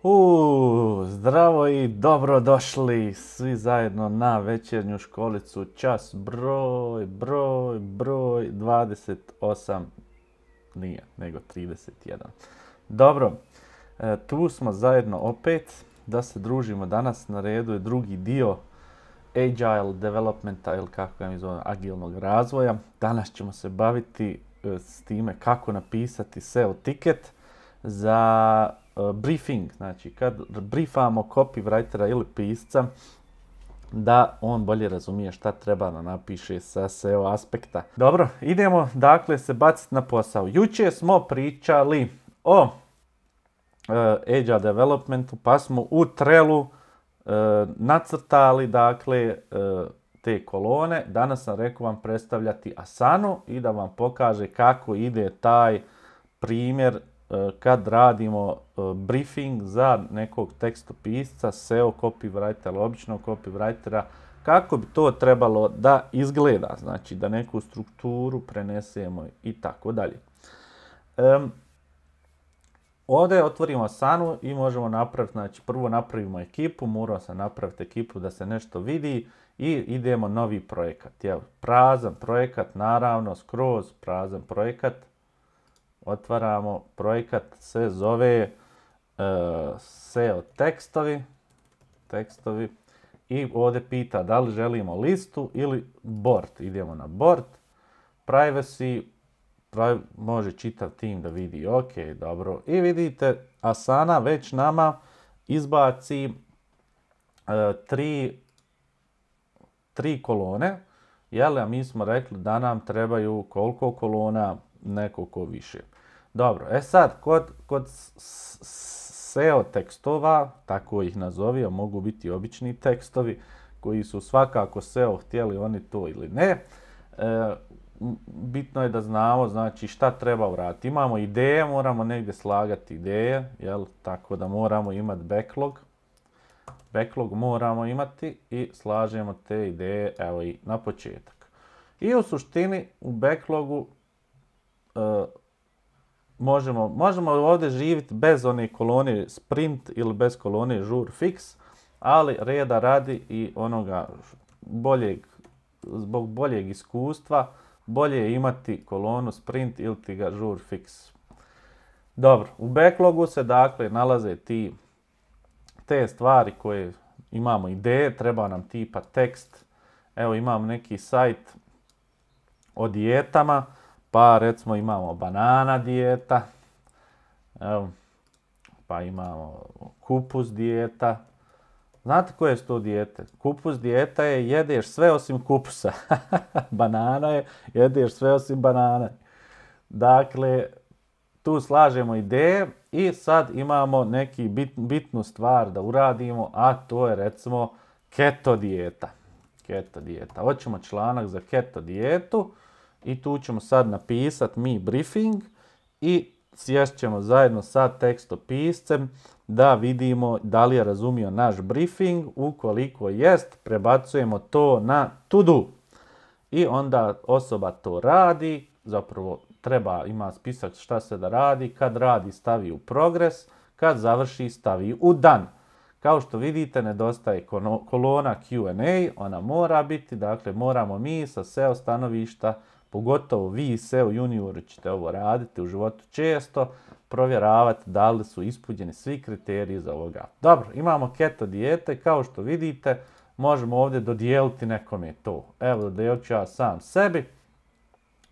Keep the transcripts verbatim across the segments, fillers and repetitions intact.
U, zdravo i dobrodošli svi zajedno na večernju školicu, čas broj, broj, broj dvadeset osam, nije, nego trideset jedan. Dobro, e, tu smo zajedno opet da se družimo. Danas na redu je drugi dio Agile Developmenta, ili kako ga mi zovem, agilnog razvoja. Danas ćemo se baviti e, s time kako napisati S E O tiket za uh, briefing, znači kad briefamo copywritera ili pisca da on bolje razumije šta treba da napiše sa S E O aspekta. Dobro, idemo dakle se baciti na posao. Jučer smo pričali o uh, Agile Developmentu, pa smo u Trellu uh, nacrtali dakle uh, te kolone. Danas sam rekao vam predstavljati Asanu i da vam pokaže kako ide taj primjer kad radimo briefing za nekog tekstopisca, S E O copywritera, običnog copywritera, kako bi to trebalo da izgleda, znači da neku strukturu prenesemo i tako dalje. Ovdje otvorimo Asanu i možemo napraviti, znači prvo napravimo ekipu, moramo se napraviti ekipu da se nešto vidi i idemo novi projekat. Evo, prazan projekat, naravno, skroz prazan projekat. Otvaramo, projekat se zove uh, S E O tekstovi, tekstovi i ovdje pita da li želimo listu ili board. Idemo na board, privacy, prav, može čitav tim da vidi, ok, dobro. I vidite, Asana već nama izbaci uh, tri, tri kolone, jel, a mi smo rekli da nam trebaju koliko kolona, nekoliko više. Dobro, e sad, kod, kod S E O tekstova, tako ih nazovio, mogu biti obični tekstovi koji su svakako S E O htjeli oni to ili ne. E, bitno je da znamo, znači, šta treba uraditi. Imamo ideje, moramo negdje slagati ideje, jel? Tako da moramo imati backlog. Backlog moramo imati i slažemo te ideje, evo i na početak. I u suštini u backlogu Uh, možemo, možemo ovdje živjeti bez one kolone sprint ili bez kolone žur fix, ali reda radi i onoga boljeg, zbog boljeg iskustva, bolje je imati kolonu sprint ili ti ga žur fix. Dobro, u backlogu se dakle nalaze ti, te stvari koje imamo ideje, treba nam tipa tekst. Evo imam neki sajt o dijetama, pa recimo imamo banana dijeta, evo, pa imamo kupus dijeta. Znate koje su to dijete? Kupus dijeta je jedeš sve osim kupusa. Banana je jedeš sve osim banane. Dakle, tu slažemo ideje i sad imamo neki bit, bitnu stvar da uradimo, a to je recimo keto dijeta. Keto dijeta. Hoćemo članak za keto dijetu. I tu ćemo sad napisati mi briefing i sjest ćemo zajedno sa tekstopiscem da vidimo da li je razumio naš briefing. Ukoliko jest, prebacujemo to na to do. I onda osoba to radi, zapravo treba, ima spisak šta se da radi, kad radi stavi u progres, kad završi stavi u done. Kao što vidite, nedostaje kolona Q and A, ona mora biti, dakle moramo mi sa S E O stanovišta, pogotovo vi S E O juniori ćete ovo raditi u životu često, provjeravati da li su ispunjeni svi kriteriji za ovoga. Dobro, imamo keto dijete, kao što vidite, možemo ovdje dodijeliti nekome to. Evo, dodijelit ću ja sam sebi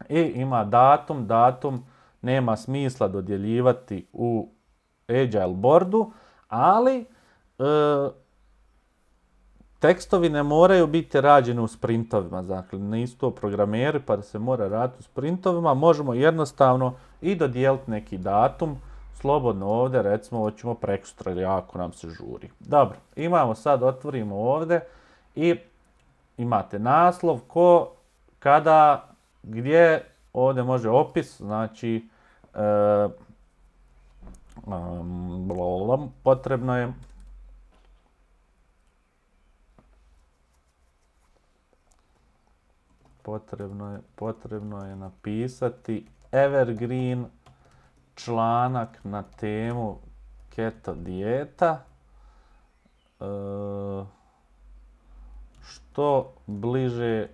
i ima datum, datum nema smisla dodjeljivati u Agile boardu, ali e, tekstovi ne moraju biti rađeni u sprintovima, dakle nisu to programeri pa da se mora raditi u sprintovima, možemo jednostavno i dodijeliti neki datum, slobodno ovdje, recimo hoćemo prekosutra ili ako nam se žuri. Dobro, imamo sad, otvorimo ovdje i imate naslov, ko, kada, gdje, ovdje može opis, znači e, um, potrebno je Potrebno je, potrebno je napisati evergreen članak na temu keto dijeta. E, što bliže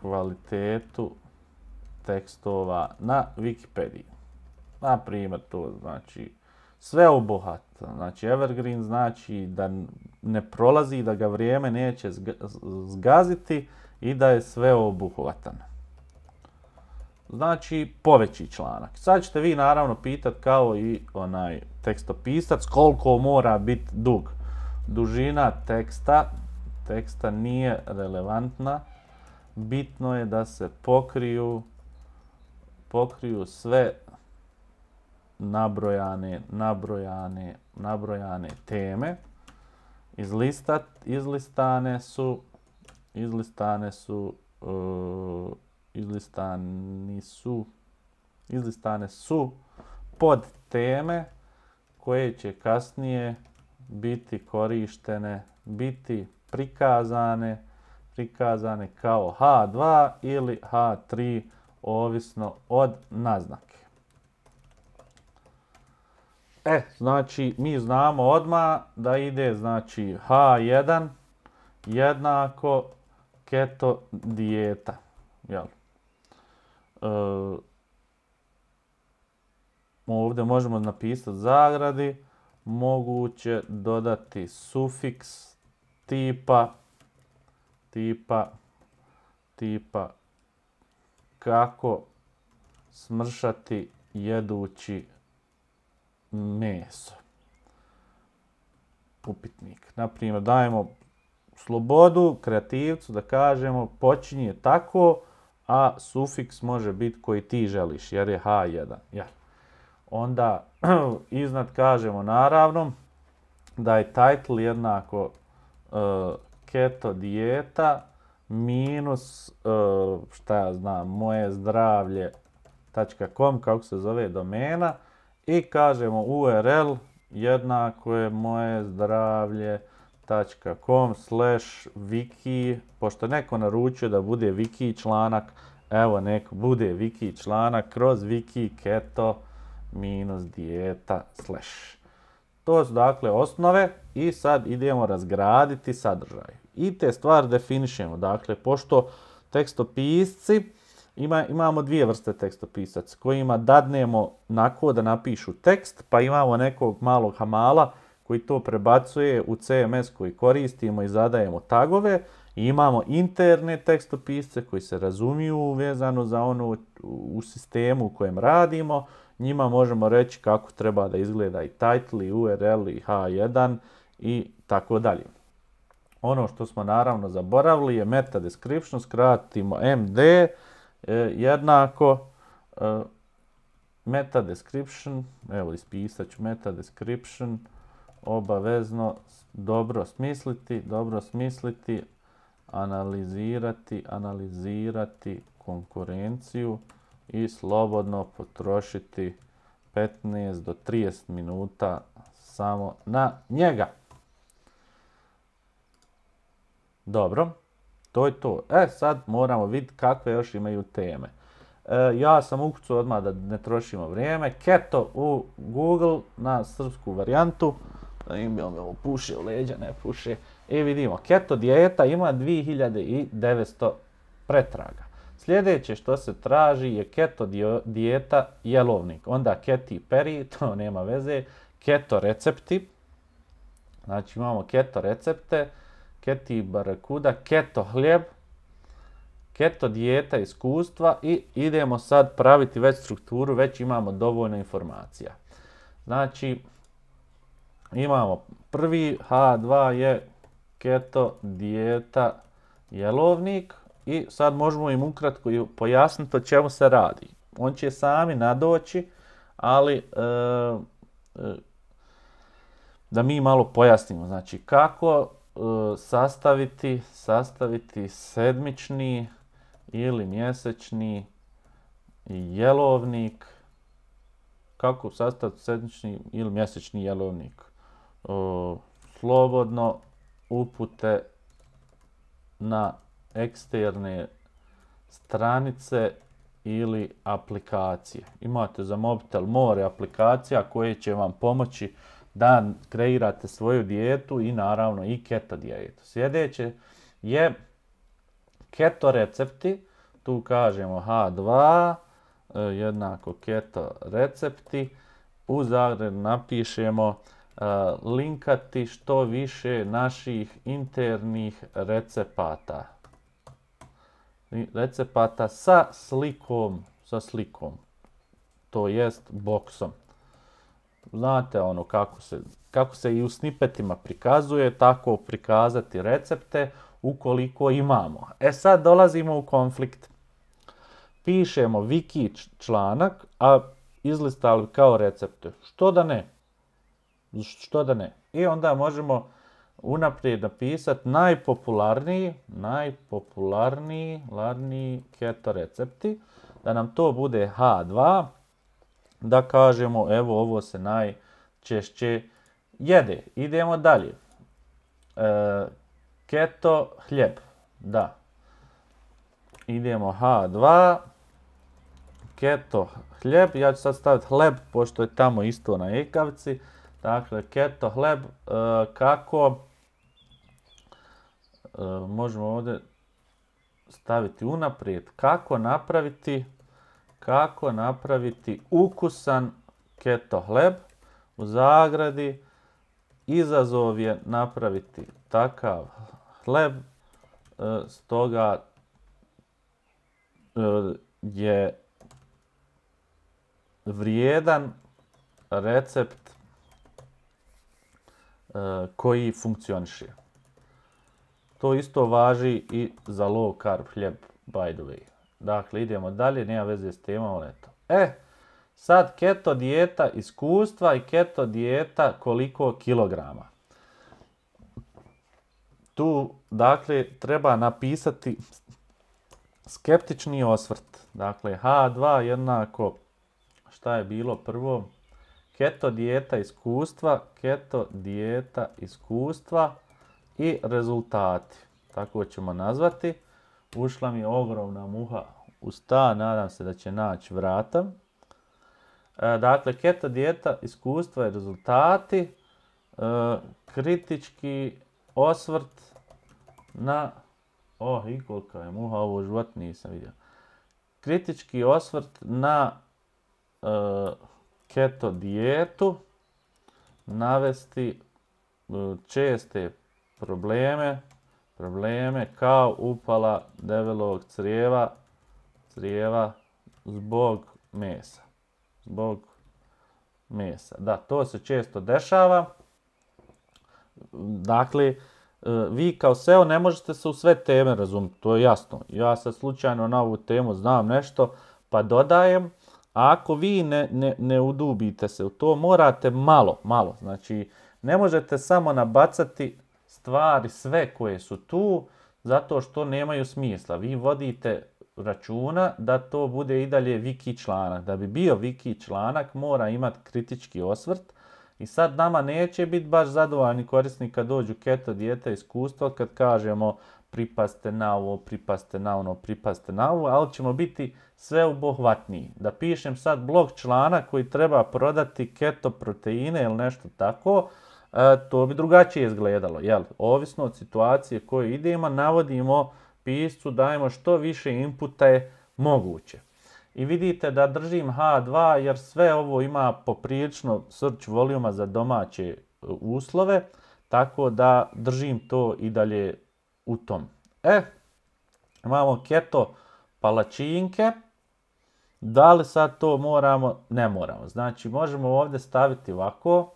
kvalitetu tekstova na Wikipediji. Na primjer, to znači sveobuhvatno. Znači, evergreen znači da ne prolazi, da ga vrijeme neće zgaziti i da je sveobuhvatan. Znači, poveći članak. Sad ćete vi naravno pitati kao i onaj tekstopisac koliko mora biti dug. Dužina teksta, teksta nije relevantna. Bitno je da se pokriju, pokriju sve nabrojane, nabrojane, nabrojane teme. Izlistat, izlistane su, izlistane su, uh, izlistani su, izlistane su pod teme koje će kasnije biti korištene, biti prikazane, prikazane kao ha dva ili ha tri, ovisno od naznake. E, znači, mi znamo odmah da ide, znači, ha jedan jednako keto dijeta. Jel? E, ovdje možemo napisati zagradi, moguće dodati sufiks tipa, tipa, tipa, kako smršati jedući meso. Upitnik. Naprimjer, dajemo slobodu kreativcu da kažemo počinje tako, a sufiks može biti koji ti želiš, jer je ha jedan. Jel? Onda iznad kažemo naravno da je title jednako uh, keto dijeta minus, uh, šta ja znam, moje zdravlje .com, kako se zove domena, i kažemo U R L jednako je moje zdravlje.com slash wiki, pošto neko naručio da bude wiki članak, evo neko bude wiki članak kroz wiki keto minus dijeta slash. To su dakle osnove i sad idemo razgraditi sadržaj. I te stvari definišemo. Dakle, pošto tekstopisci, ima, imamo dvije vrste tekstopisaca kojima dadnemo nako da napišu tekst, pa imamo nekog malog hamala koji to prebacuje u C M S koji koristimo i zadajemo tagove. I imamo interne tekstopisce koji se razumiju vezano za ono u sistemu u kojem radimo. Njima možemo reći kako treba da izgleda i title, i U R L, i ha jedan i tako dalje. Ono što smo naravno zaboravili je meta description, skratimo M D, e, jednako e, meta description, evo ispisat ću meta description, obavezno dobro smisliti, dobro smisliti, analizirati, analizirati konkurenciju i slobodno potrošiti petnaest do trideset minuta samo na njega. Dobro, to je to. E, sad moramo vidjeti kakve još imaju teme. E, ja sam ukucao odmah da ne trošimo vrijeme. Keto u Google na srpsku varijantu. Da im bi ovo puše u leđa, ne puše. I vidimo, keto dijeta ima dvije hiljade devetsto pretraga. Sljedeće što se traži je keto dijeta jelovnik. Onda Katy Perry, to nema veze. Keto recepti. Znači imamo keto recepte. Katy Barakuda, keto hljeb. Keto dijeta iskustva i idemo sad praviti već strukturu, već imamo dovoljno informacija. Znači imamo prvi ha dva je keto dijeta jelovnik. I sad možemo im ukratko pojasniti o čemu se radi. On će sami nadoći, ali e, e, da mi malo pojasnimo. Znači kako e, sastaviti, sastaviti sedmični ili mjesečni jelovnik. Kako sastaviti sedmični ili mjesečni jelovnik. E, slobodno upute na eksterne stranice ili aplikacije. Imate za mobitel more aplikacija koje će vam pomoći da kreirate svoju dijetu i naravno i keto dijetu. Sljedeće je keto recepti. Tu kažemo ha dva jednako keto recepti. U zagradi napišemo uh, linkati što više naših internih recepata. Recepata sa slikom, sa slikom, to jest boksom. Znate ono kako se, kako se i u snipetima prikazuje, tako prikazati recepte ukoliko imamo. E sad dolazimo u konflikt. Pišemo wiki članak, a izlistali kao recepte. Što da ne? Što da ne? I onda možemo unaprijed napisati najpopularniji, najpopularniji larniji keto recepti, da nam to bude ha dva, da kažemo evo ovo se najčešće jede. Idemo dalje. E, keto hljeb, da. Idemo ha dva, keto hljeb, ja ću sad staviti hleb, pošto je tamo isto na ekavici. Dakle, keto hljeb, e, kako, e, možemo ovdje staviti unaprijed, kako napraviti, kako napraviti ukusan keto hljeb, u zagradi, izazov je napraviti takav hljeb, e, stoga e, je vrijedan recept e, koji funkcioniše. To isto važi i za low carb hljeb, by the way. Dakle, idemo dalje, nema veze s temom, ali eto. E, sad keto dijeta iskustva i keto dijeta koliko kilograma. Tu, dakle, treba napisati skeptični osvrt. Dakle, ha dva jednako, šta je bilo prvo? Keto dijeta iskustva, keto dijeta iskustva i rezultati. Tako ćemo nazvati. Ušla mi je ogromna muha u stan, nadam se da će naći vrata. E, dakle, keto dijeta iskustva i rezultati. E, kritički osvrt na... Oh, i kolika je muha, ovo život nisam vidio. Kritički osvrt na e, keto dijetu, navesti e, česte probleme, probleme kao upala debelog crijeva, crijeva zbog mesa. Zbog mesa. Da, to se često dešava. Dakle, vi kao S E O ne možete se u sve teme razumjeti, to je jasno. Ja sad slučajno na ovu temu znam nešto, pa dodajem. A ako vi ne, ne, ne udubite se u to, morate malo, malo. Znači, ne možete samo nabacati stvari sve koje su tu, zato što nemaju smisla. Vi vodite računa da to bude i dalje wiki članak. Da bi bio wiki članak, mora imati kritički osvrt. I sad nama neće biti baš zadovoljni korisnik kad dođu keto dijeta iskustva, kad kažemo pripazite na ovo, pripazite na ono, pripazite na ovo, ali ćemo biti sveobuhvatniji. Da pišem sad blog članak koji treba prodati keto proteine ili nešto tako, e, to bi drugačije izgledalo. Jel? Ovisno od situacije koje idemo, navodimo piscu, dajemo što više inputa je moguće. I vidite da držim ha dva jer sve ovo ima poprilično search voluma za domaće uslove, tako da držim to i dalje u tom. E, imamo keto palačinke. Da li sad to moramo? Ne moramo. Znači, možemo ovdje staviti ovako.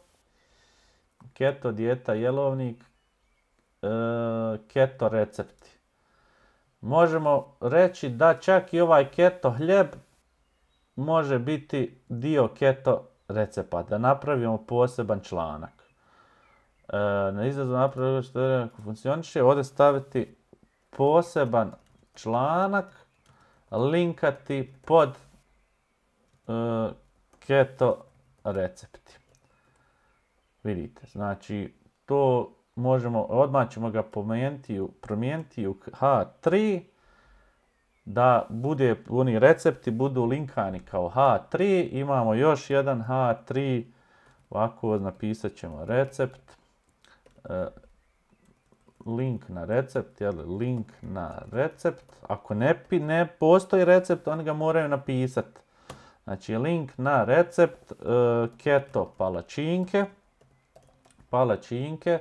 Keto dijeta jelovnik, e, keto recepti. Možemo reći da čak i ovaj keto hljeb može biti dio keto recepata. Da napravimo poseban članak. E, na izrazu napravimo što je ako funkcioniše. Ovdje staviti poseban članak, linkati pod e, keto recepti. Vidite, znači to možemo, odmah ćemo ga promijeniti u ha tri. da bude, oni recepti budu linkani kao H tri, imamo još jedan H tri, ovako napisat ćemo recept, e, link na recept, jel, link na recept, ako ne, ne postoji recept, oni ga moraju napisati. Znači link na recept e, keto palačinke, palačinke,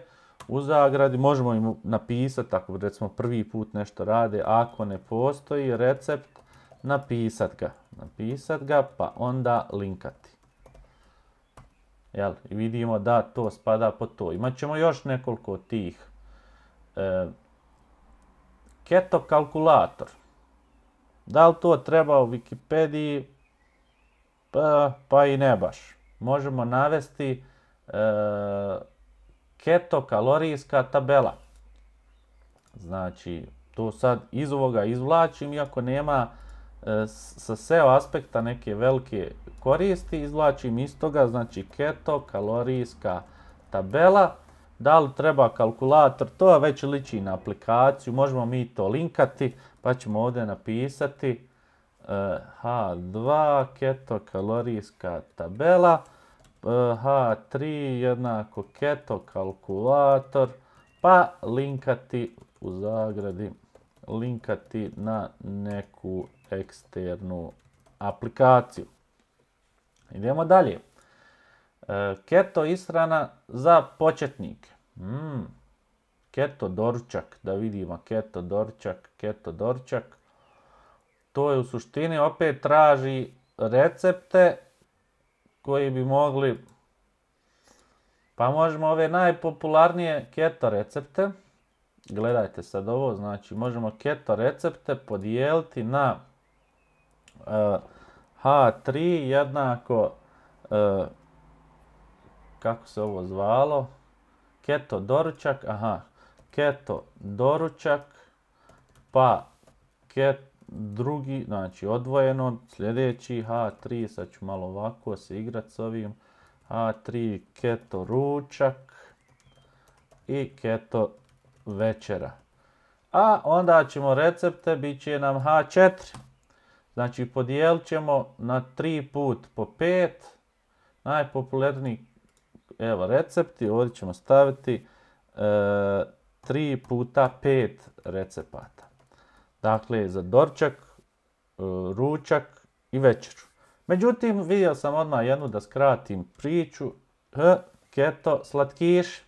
u zagradi, možemo im napisati, ako recimo prvi put nešto rade, ako ne postoji recept, napisat ga, napisat ga, pa onda linkati. Jel, i vidimo da to spada po to. Imat ćemo još nekoliko tih. E, keto kalkulator. Da li to treba u Wikipediji? Pa, pa i ne baš. Možemo navesti e, keto kalorijska tabela. Znači, to sad iz ovoga izvlačim, iako nema e, sa S E O aspekta neke velike koristi, izvlačim iz toga, znači keto kalorijska tabela. Da li treba kalkulator, to već liči na aplikaciju, možemo mi to linkati, pa ćemo ovdje napisati e, H dva keto kalorijska tabela, H tri jednako keto kalkulator, pa linkati u zagradi, linkati na neku eksternu aplikaciju. Idemo dalje. E, keto ishrana za početnike. Mm. Keto doručak, da vidimo keto doručak, keto doručak. To je u suštini opet traži recepte koji bi mogli, pa možemo ove najpopularnije keto recepte, gledajte sad ovo, znači možemo keto recepte podijeliti na uh, H tri jednako, uh, kako se ovo zvalo, keto doručak, aha, keto doručak, pa ket, drugi, znači odvojeno, sljedeći H tri, sad ću malo ovako se igrati s ovim, H tri keto ručak i keto večera. A onda ćemo recepte, bit će nam H četiri. Znači podijelit ćemo na tri put po pet. Najpopularniji, evo recepti, ovdje ćemo staviti e, tri puta pet recepata. Dakle, za doručak, e, ručak i večeru. Međutim, vidio sam odmah jednu da skratim priču. H, keto slatkiši.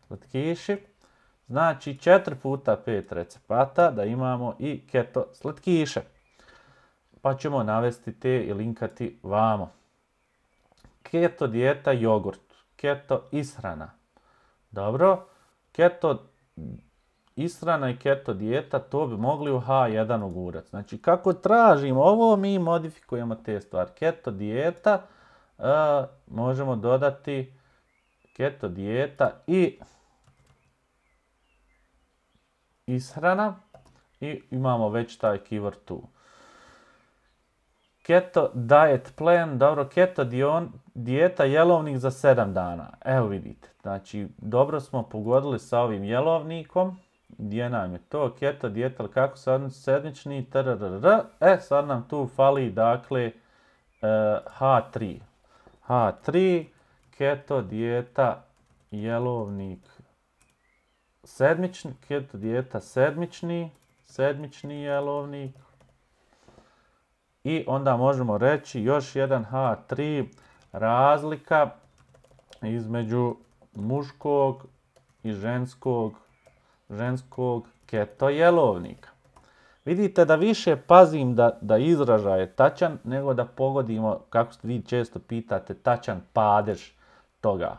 Slatkiši. Znači četiri puta pet recepata da imamo i keto slatkiše. Pa ćemo navesti te i linkati vamo. Keto dijeta jogurt. Keto ishrana. Dobro. Keto ishrana i keto dijeta, to bi mogli u H jedan ugurati. Znači kako tražimo ovo, mi modifikujemo te stvari. Keto dijeta, uh, možemo dodati keto dijeta i ishrana i imamo već taj keyword tu. Keto diet plan, dobro, keto dion, dijeta jelovnik za sedam dana. Evo vidite, znači dobro smo pogodili sa ovim jelovnikom. Gdje nam je to? Keto dijeta, ali kako sad sedmični, trrrr. E, sad nam tu fali, dakle, H tri. H tri, keto dijeta, jelovnik, sedmični, keto dijeta, sedmični, sedmični jelovnik. I onda možemo reći još jedan H tri, razlika između muškog i ženskog ženskog keto jelovnika. Vidite da više pazim da, da izražaj je tačan, nego da pogodimo, kako vi često pitate, tačan padež toga.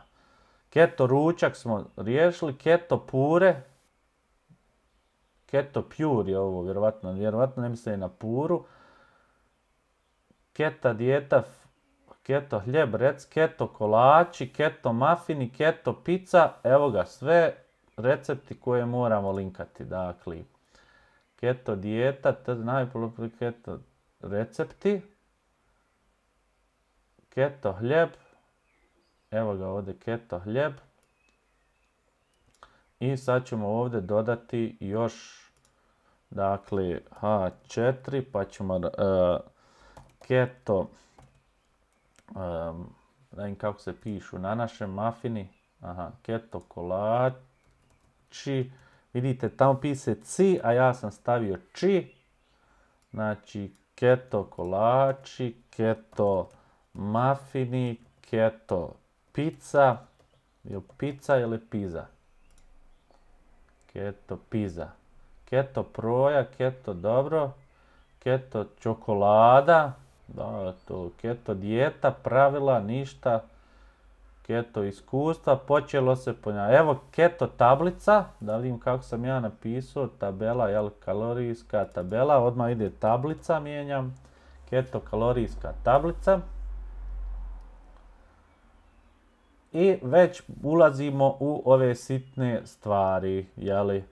Keto ručak smo riješili, keto pure, keto pure je ovo, vjerovatno, vjerovatno ne misle na puru. Keto dijeta, keto hljeb, rec, keto kolači, keto mafini, keto pizza, evo ga sve recepti koje moramo linkati. Dakle, keto dijeta, najpopularniji keto recepti, keto hljeb, evo ga ovdje keto hljeb. I sad ćemo ovdje dodati još dakle H četiri, pa ćemo uh, keto, um, da im kako se pišu na našem mafini, aha, keto kolači, vidite tamo piše ci, a ja sam stavio či, znači keto kolači, keto mafini, keto pizza, je pizza ili pizza? Keto pizza. Keto proja, keto dobro, keto čokolada, da, to, keto dijeta, pravila, ništa, keto iskustva, počelo se ponavljati. Evo keto tablica, da vidim kako sam ja napisao, tabela, jel, kalorijska tabela, odmah ide tablica, mijenjam, keto kalorijska tablica. I već ulazimo u ove sitne stvari, jeli?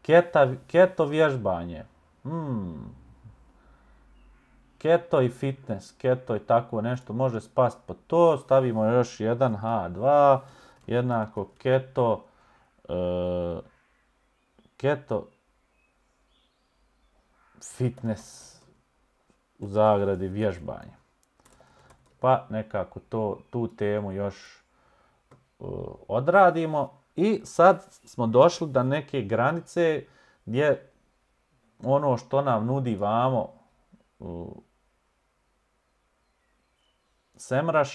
Keta, keto vježbanje. Hmm. Keto i fitness, keto i tako nešto može spasti pod to. Stavimo još jedan H dva, jednako keto, uh, keto fitness u zagradi vježbanje. Pa nekako to, tu temu još uh, odradimo. I sad smo došli do neke granice gdje ono što nam nudi vamo uh, Semrush,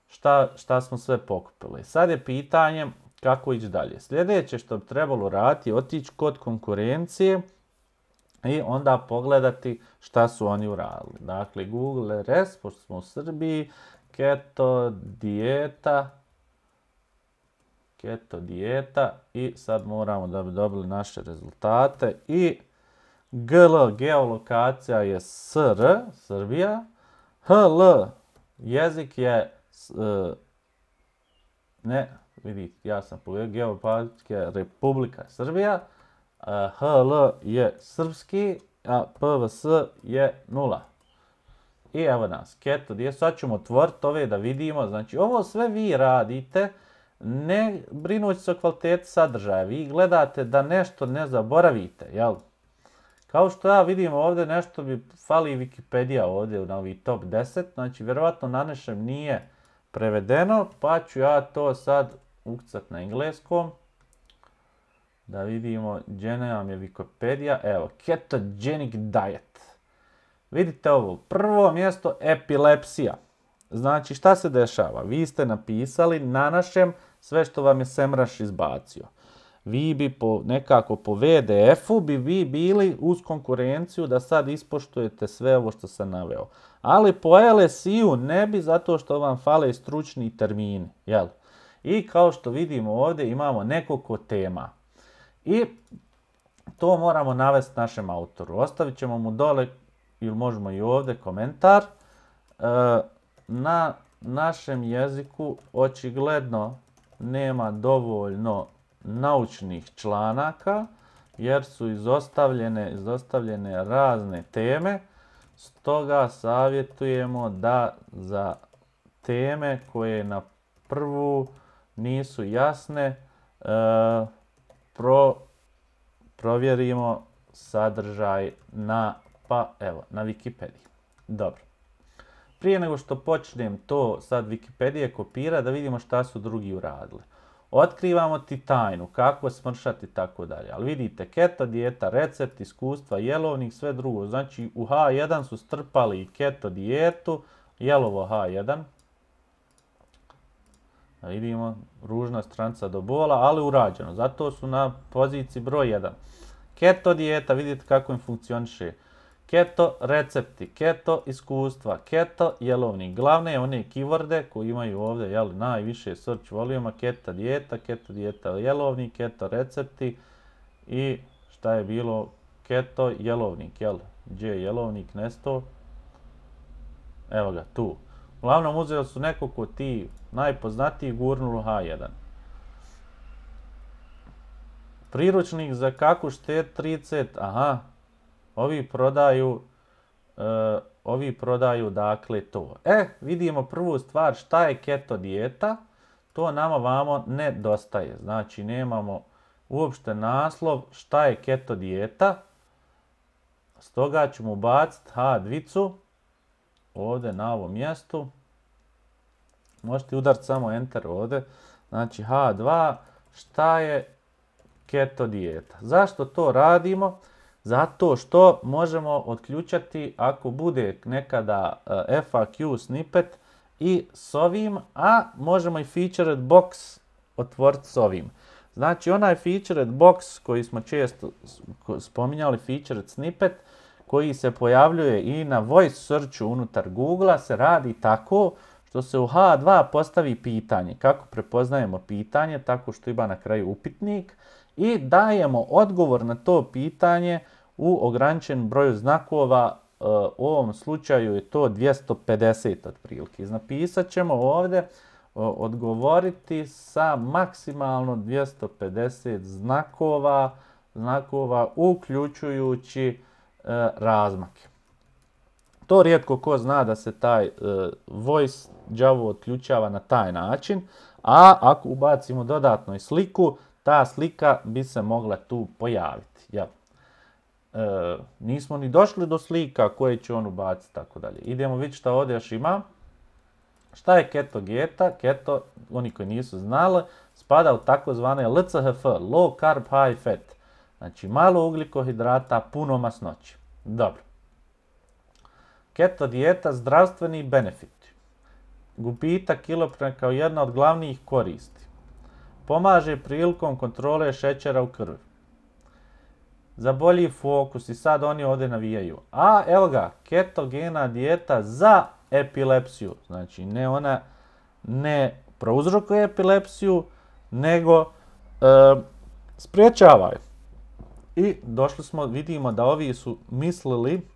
šta, šta smo sve pokupili. Sad je pitanje kako ići dalje. Sljedeće što bi trebalo raditi je otići kod konkurencije i onda pogledati šta su oni uradili. Dakle, Google R S, pošto smo u Srbiji, keto dijeta, keto dijeta i sad moramo da bi dobili naše rezultate i G L, geolokacija je S R, Srbija, H L, jezik je, uh, ne, vidite, ja sam pogledao, geopolitika Republika Srbija, uh, H L je srpski, a P V S je nula. I evo nas, keto dijeta, sad ćemo otvoriti ove da vidimo, znači ovo sve vi radite, ne brinući se o kvaliteti sadržaja, vi gledate da nešto ne zaboravite, jel? Kao što ja vidim ovdje nešto bi fali Wikipedia ovdje na ovi top deset, znači vjerovatno na našem nije prevedeno, pa ću ja to sad ukucat na engleskom. Da vidimo gdje nam je Wikipedia, evo, ketogenic diet. Vidite ovo, prvo mjesto epilepsija. Znači šta se dešava? Vi ste napisali na našem sve što vam je Semrush izbacio. Vi bi po, nekako po V D F-u bi vi bili uz konkurenciju da sad ispoštujete sve ovo što sam naveo. Ali po L S I-u ne bi zato što vam fale stručni termini. Jel? I kao što vidimo ovdje imamo nekoliko tema. I to moramo navesti našem autoru. Ostavit ćemo mu dole ili možemo i ovdje komentar. E, na našem jeziku očigledno nema dovoljno naučnih članaka jer su izostavljene, izostavljene razne teme, stoga savjetujemo da za teme koje na prvu nisu jasne e, pro, provjerimo sadržaj na, pa evo, na Wikipediji. Dobro. Prije nego što počnem to sad Wikipedije kopira da vidimo šta su drugi uradili. Otkrivamo ti tajnu, kako smršati i tako dalje. Ali vidite, keto dijeta, recept, iskustva, jelovnik, sve drugo. Znači u H jedan su strpali i keto dijetu, jelovo H jedan. Da vidimo, ružna stranca do bola, ali urađeno. Zato su na poziciji broj jedan. Keto dijeta, vidite kako im funkcioniše. Keto recepti, keto iskustva, keto jelovnik. Glavne one keyworde koji imaju ovdje jel, najviše search voluma, keto dijeta, keto dijeta jelovnik, keto recepti i šta je bilo keto jelovnik, jel? Gdje je jelovnik nesto? Evo ga, tu. Uglavnom uzeli su nekoliko ti najpoznatiji gurnulu H jedan. Priručnik za kako štet trideset, aha. Ovi prodaju, uh, ovi prodaju dakle to. E, vidimo prvu stvar šta je keto dijeta. To nama vamo nedostaje. Znači nemamo uopšte naslov šta je keto dijeta. Stoga ćemo ubaciti ha dva ovdje na ovom mjestu. Možete udariti samo enter ovdje. Znači ha dva, šta je keto dijeta. Zašto to radimo? Zato što možemo otključati ako bude nekada F A Q snippet i s ovim, a možemo i featured box otvoriti s ovim. Znači onaj featured box koji smo često spominjali, featured snippet, koji se pojavljuje i na voice searchu unutar Google-a, se radi tako što se u ha dva postavi pitanje. Kako prepoznajemo pitanje? Tako što ima na kraju upitnik i dajemo odgovor na to pitanje u ograničenom broju znakova. U ovom slučaju je to dvjesto pedeset otprilike. Napisat ćemo ovdje odgovoriti sa maksimalno dvjesto pedeset znakova, znakova uključujući e, razmake. To rijetko ko zna da se taj e, voice Java otključava na taj način, a ako ubacimo dodatno i sliku, ta slika bi se mogla tu pojaviti. Jel? E, nismo ni došli do slika koje će on ubaciti, tako dalje. Idemo vidjeti šta ovdje još ima. Šta je keto dijeta? Keto, oni koji nisu znali, spada u takozvane L C H F, low carb high fat. Znači malo ugljikohidrata, puno masnoće. Dobro. Keto dijeta, zdravstveni benefiti. Gubitak kilograma kao jedna od glavnih koristi. Pomaže prilikom kontrole šećera u krvi. Za bolji fokus, i sad oni ovdje navijaju. A evo ga, ketogena dijeta za epilepsiju. Znači ne ona ne prouzrokuje epilepsiju, nego e, spriječava je. I došli smo, vidimo da ovi su mislili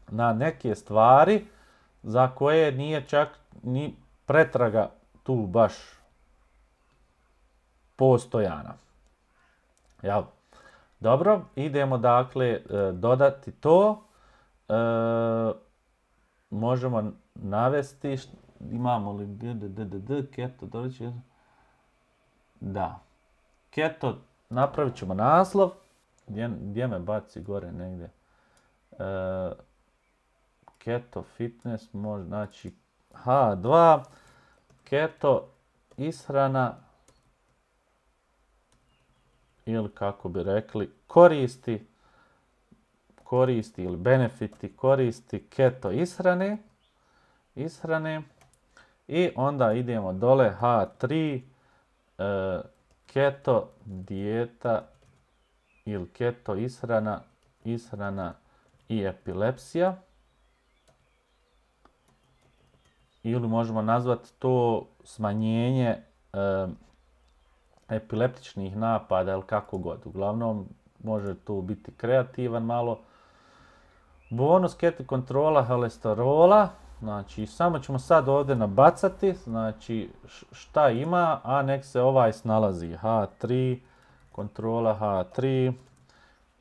na neke stvari za koje nije čak ni pretraga tu baš postojana. Jel? Dobro, idemo dakle dodati to. E, možemo navesti, imamo li keto, doći, da, keto, napravit ćemo naslov, gdje, gdje me baci gore negdje, e, keto fitness, može, znači ha dva, keto ishrana, ili kako bi rekli, koristi, koristi ili benefiti, koristi keto ishrane, ishrane i onda idemo dole ha tri, e, keto dijeta ili keto ishrana, ishrana i epilepsija. Ili možemo nazvati to smanjenje e, epileptičnih napada ili kako god. Uglavnom, može tu biti kreativan malo. Bonus keto kontrola holesterola. Znači, samo ćemo sad ovdje nabacati. Znači, šta ima, a nek se ovaj snalazi. ha tri, kontrola ha tri.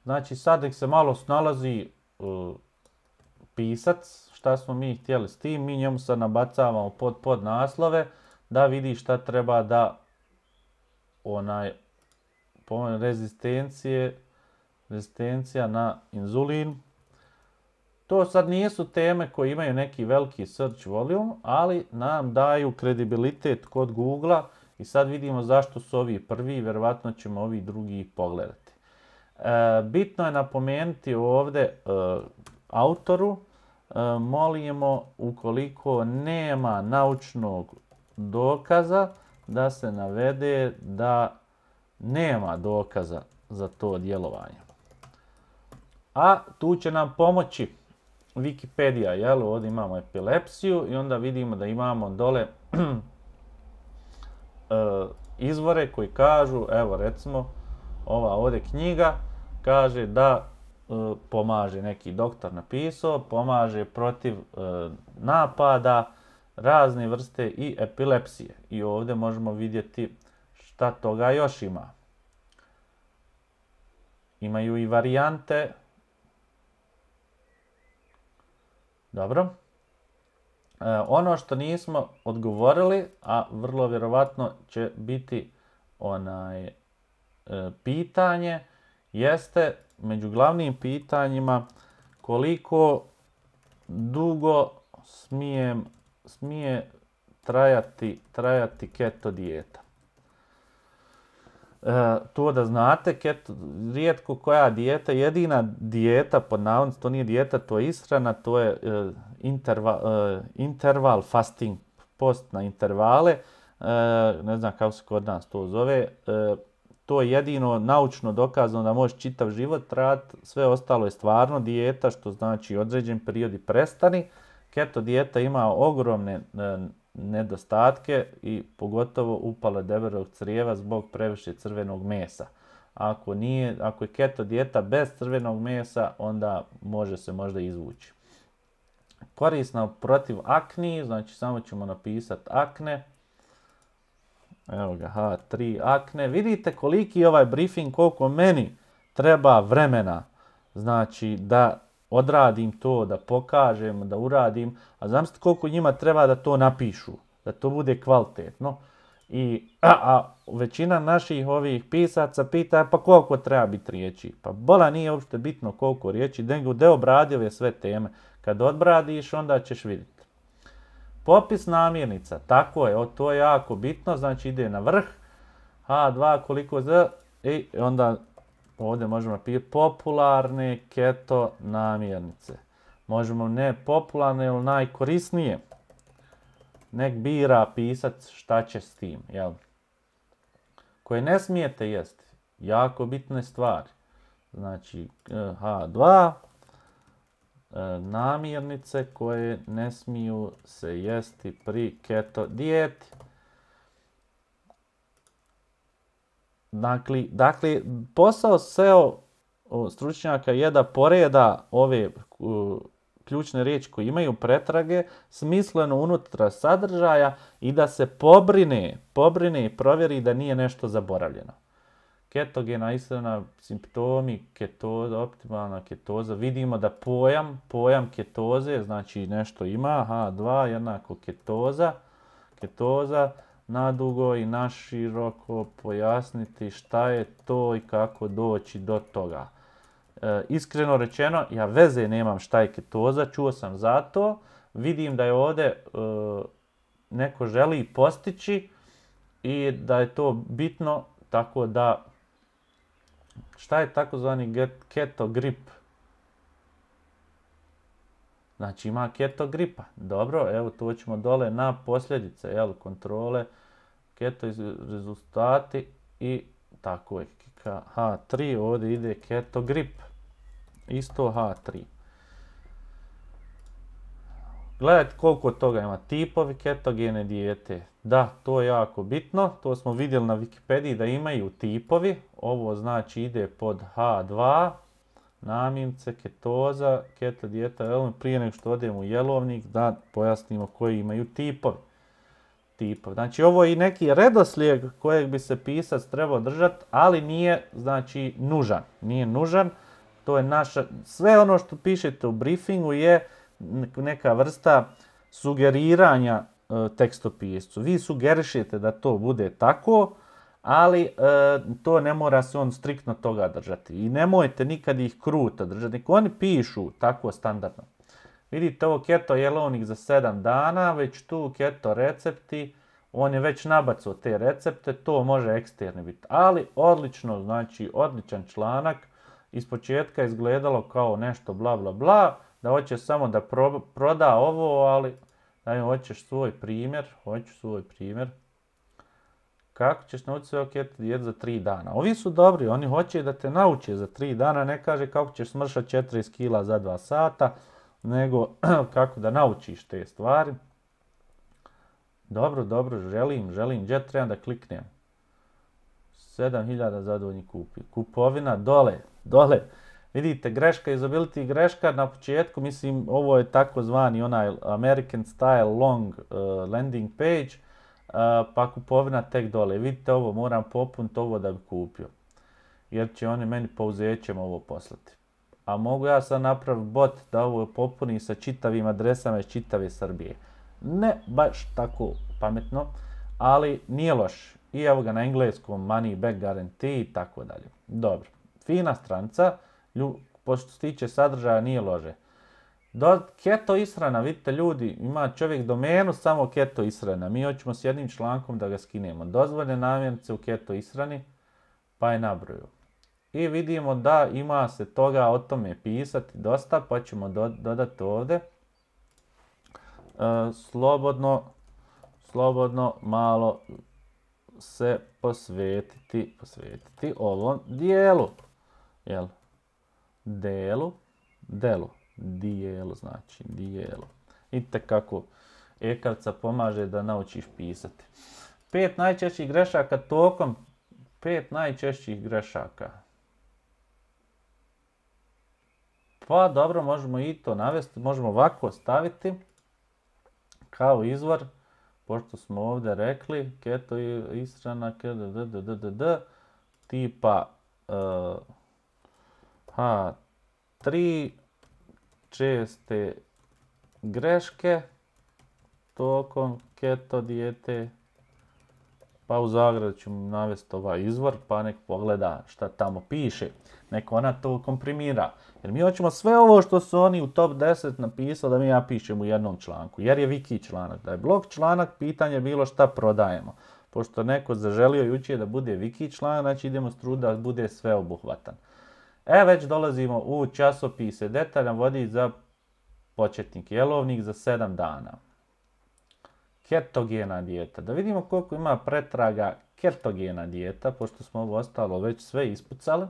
Znači, sad nek se malo snalazi uh, pisac. Šta smo mi htjeli s tim. Mi njemu sad nabacavamo pod, pod naslove da vidi šta treba da onaj rezistencije, rezistencija na inzulin. To sad nisu teme koje imaju neki veliki search volume, ali nam daju kredibilitet kod Google-a i sad vidimo zašto su ovi prvi, vjerovatno ćemo ovi drugi pogledati. E, bitno je napomenuti ovdje e, autoru, e, molimo ukoliko nema naučnog dokaza, da se navede da nema dokaza za to djelovanje. A tu će nam pomoći Wikipedia, jel? Ovdje imamo epilepsiju i onda vidimo da imamo dole e, izvore koji kažu, evo recimo, ova ovdje knjiga kaže da e, pomaže, neki doktor napisao, pomaže protiv e, napada, razne vrste i epilepsije. I ovdje možemo vidjeti šta toga još ima. Imaju i varijante. Dobro. E, ono što nismo odgovorili, a vrlo vjerovatno će biti onaj e, pitanje jeste među glavnim pitanjima koliko dugo smije, smije trajati, trajati keto dijeta. E, to da znate, keto, rijetko koja dijeta, jedina dijeta, pod navodnicima, to nije dijeta, to je ishrana, to je e, interval, e, interval fasting, post na intervale, e, ne znam kako se kod nas to zove, e, to je jedino naučno dokazano da može čitav život trajati, sve ostalo je stvarno dijeta, što znači određen period i prestani. Keto dijeta ima ogromne e, nedostatke i pogotovo upale debelog crijeva zbog previše crvenog mesa. Ako nije, ako je keto dijeta bez crvenog mesa, onda može se možda izvući. Korisna protiv akni, znači samo ćemo napisati akne. Evo ga, ha tri akne. Vidite koliki je ovaj briefing, koliko meni treba vremena, znači da odradim to, da pokažem, da uradim, a zamislite koliko njima treba da to napišu, da to bude kvalitetno. I a, a većina naših ovih pisaca pita pa koliko treba biti riječi. Pa bola nije uopšte bitno koliko riječi, nego da obradio je sve teme. Kad odbradiš, onda ćeš vidjeti. Popis namirnica, tako je, to je jako bitno, znači ide na vrh, ha dva koliko za, i onda ovdje možemo napisati popularne keto namirnice. Možemo ne popularne, ali najkorisnije. Nek bira pisac šta će s tim, jel? Koje ne smijete jesti, jako bitne stvari. Znači ha dva, namirnice koje ne smiju se jesti pri keto dijeti. Dakle, dakle posao S E O stručnjaka je da poreda ove uh, ključne riječi koje imaju pretrage smisleno unutra sadržaja i da se pobrine, pobrine i provjeri da nije nešto zaboravljeno. Ketogena ishrana, simptomi ketoza, optimalna ketoza, vidimo da pojam, pojam ketoze, znači nešto ima, ha dva jednako ketoza, ketoza, nadugo i naširoko pojasniti šta je to i kako doći do toga. E, iskreno rečeno, ja veze nemam šta je ketoza, čuo sam za to, vidim da je ovdje e, neko želi postići i da je to bitno, tako da šta je takozvani keto grip? Znači ima keto gripa. Dobro, evo to ćemo dole na posljedice, jel, kontrole, keto rezultati i tako je. ha tri, ovdje ide keto grip. Isto ha tri. Gledajte koliko toga ima. Tipovi ketogene dijete. Da, to je jako bitno. To smo vidjeli na Wikipediji da imaju tipovi. Ovo znači ide pod ha dva. Namirnice, ketoza, keto dijeta. Prije nego što odemo u jelovnik da pojasnimo koji imaju tipovi. Tipovi. Znači ovo je i neki redoslijed kojeg bi se pisac trebao držati, ali nije znači nužan. Nije nužan. To je naša, sve ono što pišete u briefingu je neka vrsta sugeriranja e, tekstopiscu. Vi sugerišete da to bude tako, ali e, to ne mora se on striktno toga držati. I nemojte nikad ih kruto držati. Nek oni pišu tako standardno. Vidite ovo keto jelovnik za sedam dana, već tu keto recepti, on je već nabacao te recepte, to može eksterni biti. Ali odlično, znači odličan članak. Ispočetka je izgledalo kao nešto bla bla bla, da hoće samo da pro, proda ovo, ali da im hoćeš svoj primjer, hoću svoj primjer. Kako ćeš naučiti sve keto dijetu za tri dana? Ovi su dobri, oni hoće da te nauče za tri dana, ne kaže kako ćeš smršati četrdeset kila za dva sata, nego kako da naučiš te stvari. Dobro, dobro, želim, želim, gdje trebam da kliknem? sedam hiljada zadovoljnih kupi. Kupovina dole, dole. Vidite, greška, usability greška na početku, mislim, ovo je takozvani onaj American style long uh, landing page, uh, pa kupovina tek dole. Vidite ovo, moram popuniti ovo da bi kupio. Jer će oni meni pouzećem ovo poslati. A mogu ja sad napraviti bot da ovo popuni sa čitavim adresama iz čitave Srbije. Ne baš tako pametno, ali nije loš. i evo ga na engleskom money back guarantee i tako dalje. Dobro, fina stranica, pošto se tiče sadržaja nije lože. Do Keto Israna, vidite ljudi, ima čovjek domenu samo Keto Israna. Mi hoćemo s jednim člankom da ga skinemo. Dozvoljene namirnice u Keto Israni, pa je nabroju. I vidimo da ima se toga o tome pisati dosta, pa ćemo do, dodati ovdje. E, slobodno, slobodno malo se posvetiti, posvetiti ovom dijelu. Jel? Delu, delu. Dijelu, znači dijelu. Vidite kako Ekavca pomaže da naučiš pisati. Pet najčešćih grešaka tokom, pet najčešćih grešaka. Pa dobro, možemo i to navesti, možemo ovako staviti kao izvor, pošto smo ovdje rekli, Keto Israna, d, tipa uh, ha tri česte greške tokom keto dijete, pa u zagradi ću navesti ovaj izvor, pa nek pogleda šta tamo piše. Nek ona to komprimira. Jer mi hoćemo sve ovo što su oni u top deset napisali da mi ja pišem u jednom članku. Jer je wiki članak. Da je blog članak, pitanje je bilo šta prodajemo. Pošto neko zaželio jučer da bude wiki članak, znači idemo s trud da bude sveobuhvatan. E, već dolazimo u časopise, detaljan vodič za početnik, jelovnik za sedam dana. Ketogena dijeta. Da vidimo koliko ima pretraga ketogena dijeta, pošto smo ovo ostalo već sve ispucali.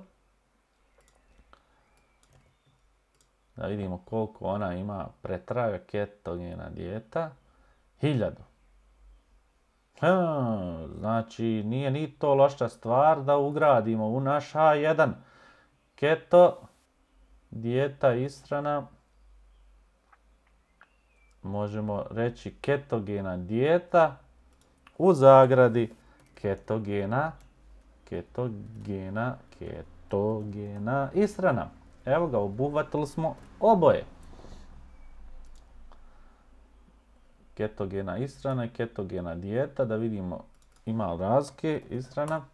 Da vidimo koliko ona ima pretraga ketogena dijeta. Hiljadu. Hmm, znači, nije ni to loša stvar da ugradimo u naš A jedan. Keto dijeta Israna. Možemo reći ketogena dijeta u zagradi ketogena, ketogena, ketogena Israna. Evo ga, obuhvatili smo oboje. Ketogena Israna i ketogena dijeta, da vidimo ima li razlike Israna.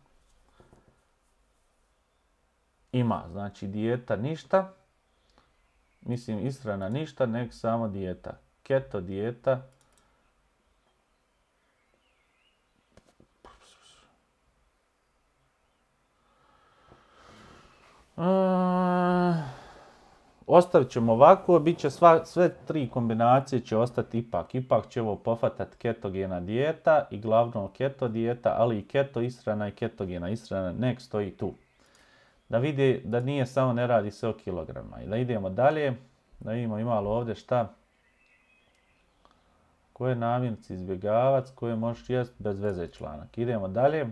Ima, znači dijeta ništa. Mislim Israna ništa, nek samo dijeta. Keto dijeta. Uh, ostavit ćemo ovako, bit će sva, sve tri kombinacije će ostati ipak. Ipak će ovo pofatati ketogena dijeta i glavno keto dijeta, ali i keto Israna i ketogena Israna, nek stoji tu. Da vidi da nije samo, ne radi se o kilograma. I da idemo dalje, da vidimo imalo ovdje šta. Koje namirnice izbjegavac, koje možeš jest bez veze članak. Idemo dalje.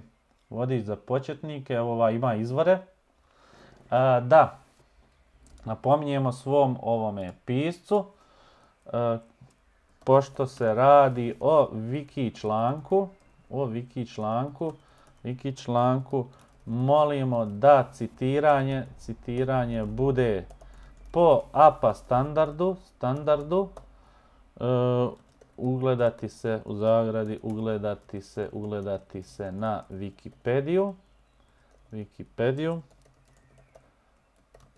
Vodič za početnike, evo ova ima izvore. A, da, napominjemo svom ovome piscu, a, pošto se radi o wiki članku, o wiki članku, wiki članku, molimo da citiranje, citiranje bude po A P A standardu, standardu, uh, ugledati se u zagradi, ugledati se, ugledati se na Wikipediju, Wikipediju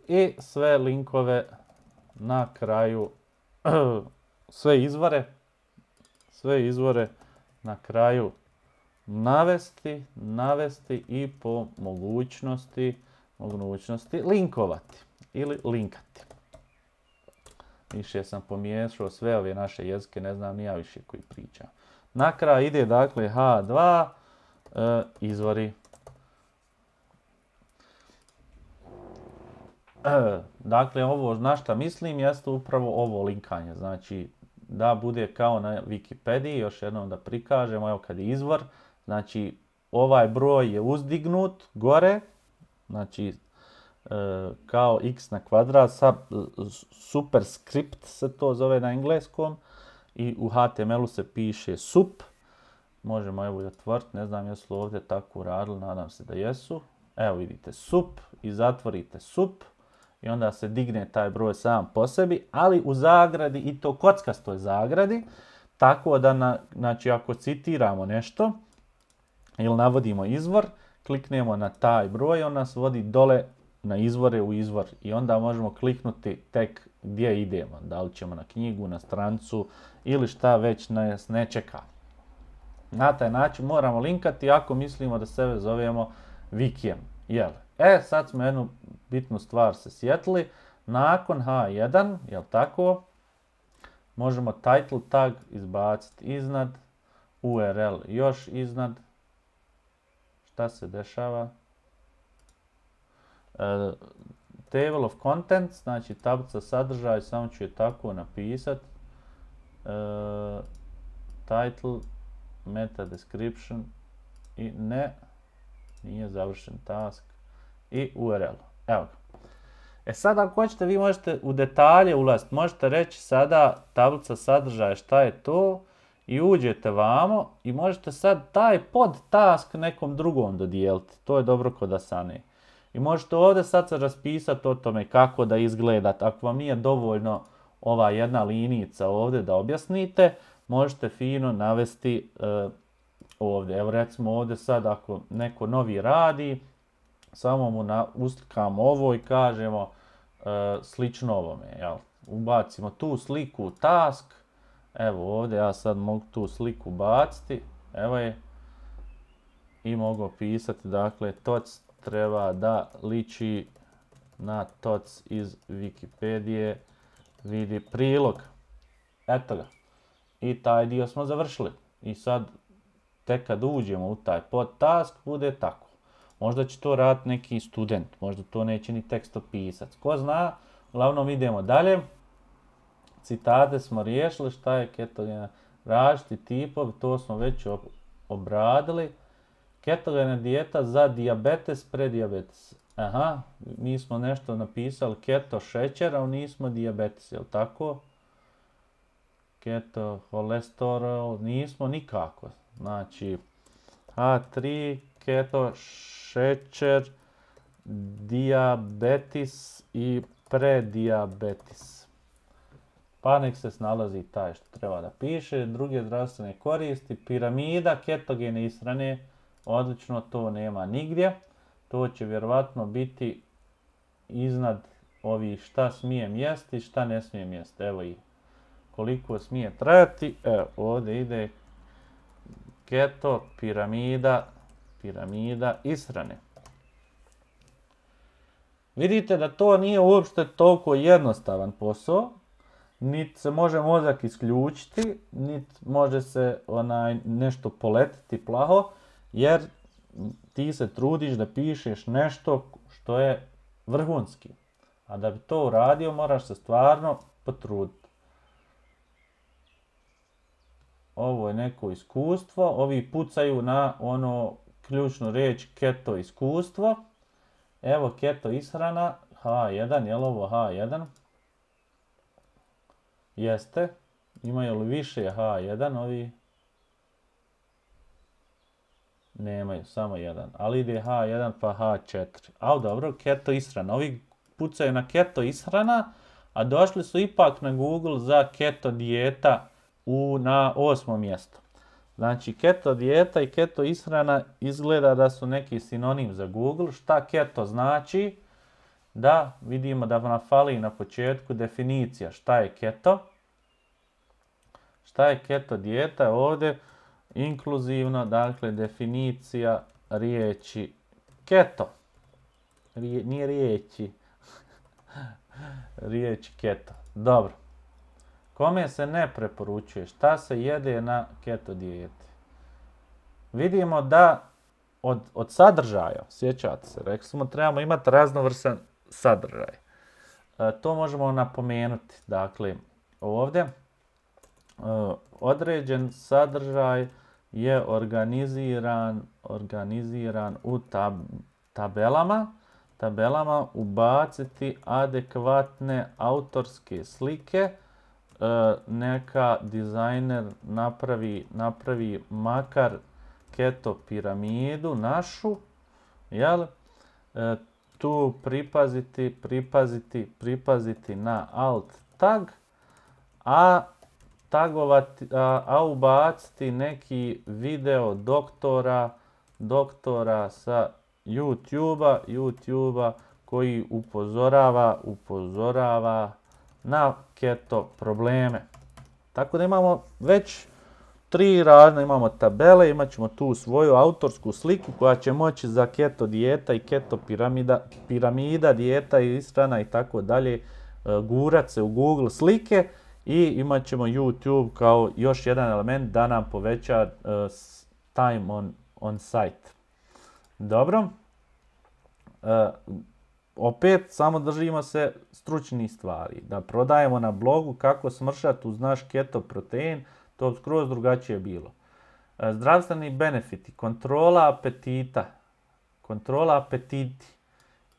i sve linkove na kraju, sve izvore, sve izvore na kraju navesti, navesti i po mogućnosti, mogućnosti linkovati ili linkati. Više sam pomiješao sve ove naše jezike, ne znam ni ja više koji pričam. Na kraju ide dakle H dva, e, izvori. E, dakle, ovo na šta mislim jeste upravo ovo linkanje. Znači, da bude kao na Wikipediji, još jednom da prikažemo, evo kad je izvor. Znači, ovaj broj je uzdignut gore, znači, e, kao x na kvadrat, sa, superscript se to zove na engleskom i u H T M L-u se piše sup. Možemo evo i otvoriti, ne znam jesu li ovdje tako uradili, nadam se da jesu. Evo vidite sup i zatvorite sup i onda se digne taj broj sam po sebi, ali u zagradi i to kockastoj zagradi, tako da na, znači ako citiramo nešto, ili navodimo izvor, kliknemo na taj broj, on nas vodi dole na izvore u izvor i onda možemo kliknuti tek gdje idemo, da li ćemo na knjigu, na strancu ili šta već nas ne čeka. Na taj način moramo linkati ako mislimo da sebe zovemo Wikijem. Jel? E, sad smo jednu bitnu stvar se sjetili. Nakon ha jedan, jel tako, možemo title tag izbaciti iznad, U R L još iznad. Šta se dešava? Uh, table of contents, znači tablica sadržaj, samo ću je tako napisati. Uh, title, meta description i ne, nije završen task i U R L. Evo ga. E sad ako hoćete, vi možete u detalje ulaziti, možete reći sada tablica sadržaja šta je to i uđete vamo i možete sad taj pod task nekom drugom dodijeliti. To je dobro kod Asane. I možete ovdje sad se raspisati o tome kako da izgledate. Ako vam nije dovoljno ova jedna linica ovdje da objasnite, možete fino navesti uh, ovdje. Evo recimo ovdje sad ako neko novi radi, samo mu na, uslikamo ovo i kažemo uh, slično ovome. Jel? Ubacimo tu sliku u task. Evo ovdje ja sad mogu tu sliku baciti. Evo je. I mogu pisati, dakle, toc treba da liči na toc iz Wikipedije. Vidi prilog. Eto ga. I taj dio smo završili. I sad, tek kad uđemo u taj podtask, bude tako. Možda će to raditi neki student, možda to neće ni tekst opisati. Ko zna, uglavnom idemo dalje. Citate smo riješili, šta je ketogena, različiti tipovi, to smo već obradili. Ketogena dijeta za dijabetes, predijabetes. Aha, mi smo nešto napisali keto šećer, a nismo dijabetes, jel tako? Keto holesterol, nismo nikako. Znači, ha tri, keto šećer, dijabetis i predijabetis. Pa nek se snalazi taj što treba da piše. Druge zdravstvene koristi, piramida ketogene ishrane, odlično, to nema nigdje. To će vjerovatno biti iznad ovih šta smijem jesti i šta ne smijem jesti. Evo i koliko smije trajati. Evo ovdje ide keto, piramida, piramida ishrane. Vidite da to nije uopšte toliko jednostavan posao. Niti se može mozak isključiti, niti može se onaj nešto poletiti plaho, jer ti se trudiš da pišeš nešto što je vrhunski. A da bi to uradio, moraš se stvarno potruditi. Ovo je neko iskustvo, ovi pucaju na ono ključnu riječ keto iskustvo. Evo keto ishrana, ha jedan, je li ovo ha jedan? Jeste. Imaju li više ha jedan ovi? Nemaju, samo jedan. Ali ide ha jedan pa ha četiri. A dobro, keto ishrana. Ovi pucaju na keto ishrana, a došli su ipak na Google za keto dijeta u, na osmo mjesto. Znači, keto dijeta i keto ishrana izgleda da su neki sinonim za Google. Šta keto znači? Da, vidimo da nam fali na početku definicija šta je keto. Šta je keto dijeta? Ovdje inkluzivno, dakle, definicija riječi keto. Rije, nije riječi. Riječ keto. Dobro. Kome se ne preporučuje? Šta se jede na keto dijeti? Vidimo da od, od sadržaja, sjećate se, rekli smo trebamo imati raznovrsan sadržaj. E, to možemo napomenuti. Dakle, ovdje e, određen sadržaj je organiziran, organiziran u tab, tabelama. Tabelama ubaciti adekvatne autorske slike. E, neka dizajner napravi, napravi makar keto piramidu našu, jel? E, tu pripaziti, pripaziti, pripaziti na alt tag, a tagovati, a, a ubaciti neki video doktora doktora sa YouTube-a, YouTube-a koji upozorava, upozorava na keto probleme. Tako da imamo već tri razne, imamo tabele, imat ćemo tu svoju autorsku sliku koja će moći za keto dijeta i keto piramida, piramida dijeta i ishrana i tako dalje gurat se u Google slike i imat ćemo YouTube kao još jedan element da nam poveća uh, time on, on site. Dobro. Uh, opet samo držimo se stručnih stvari. Da prodajemo na blogu kako smršati uz naš keto protein, to skroz drugačije bilo. Uh, zdravstveni benefiti, kontrola apetita, kontrola apetiti.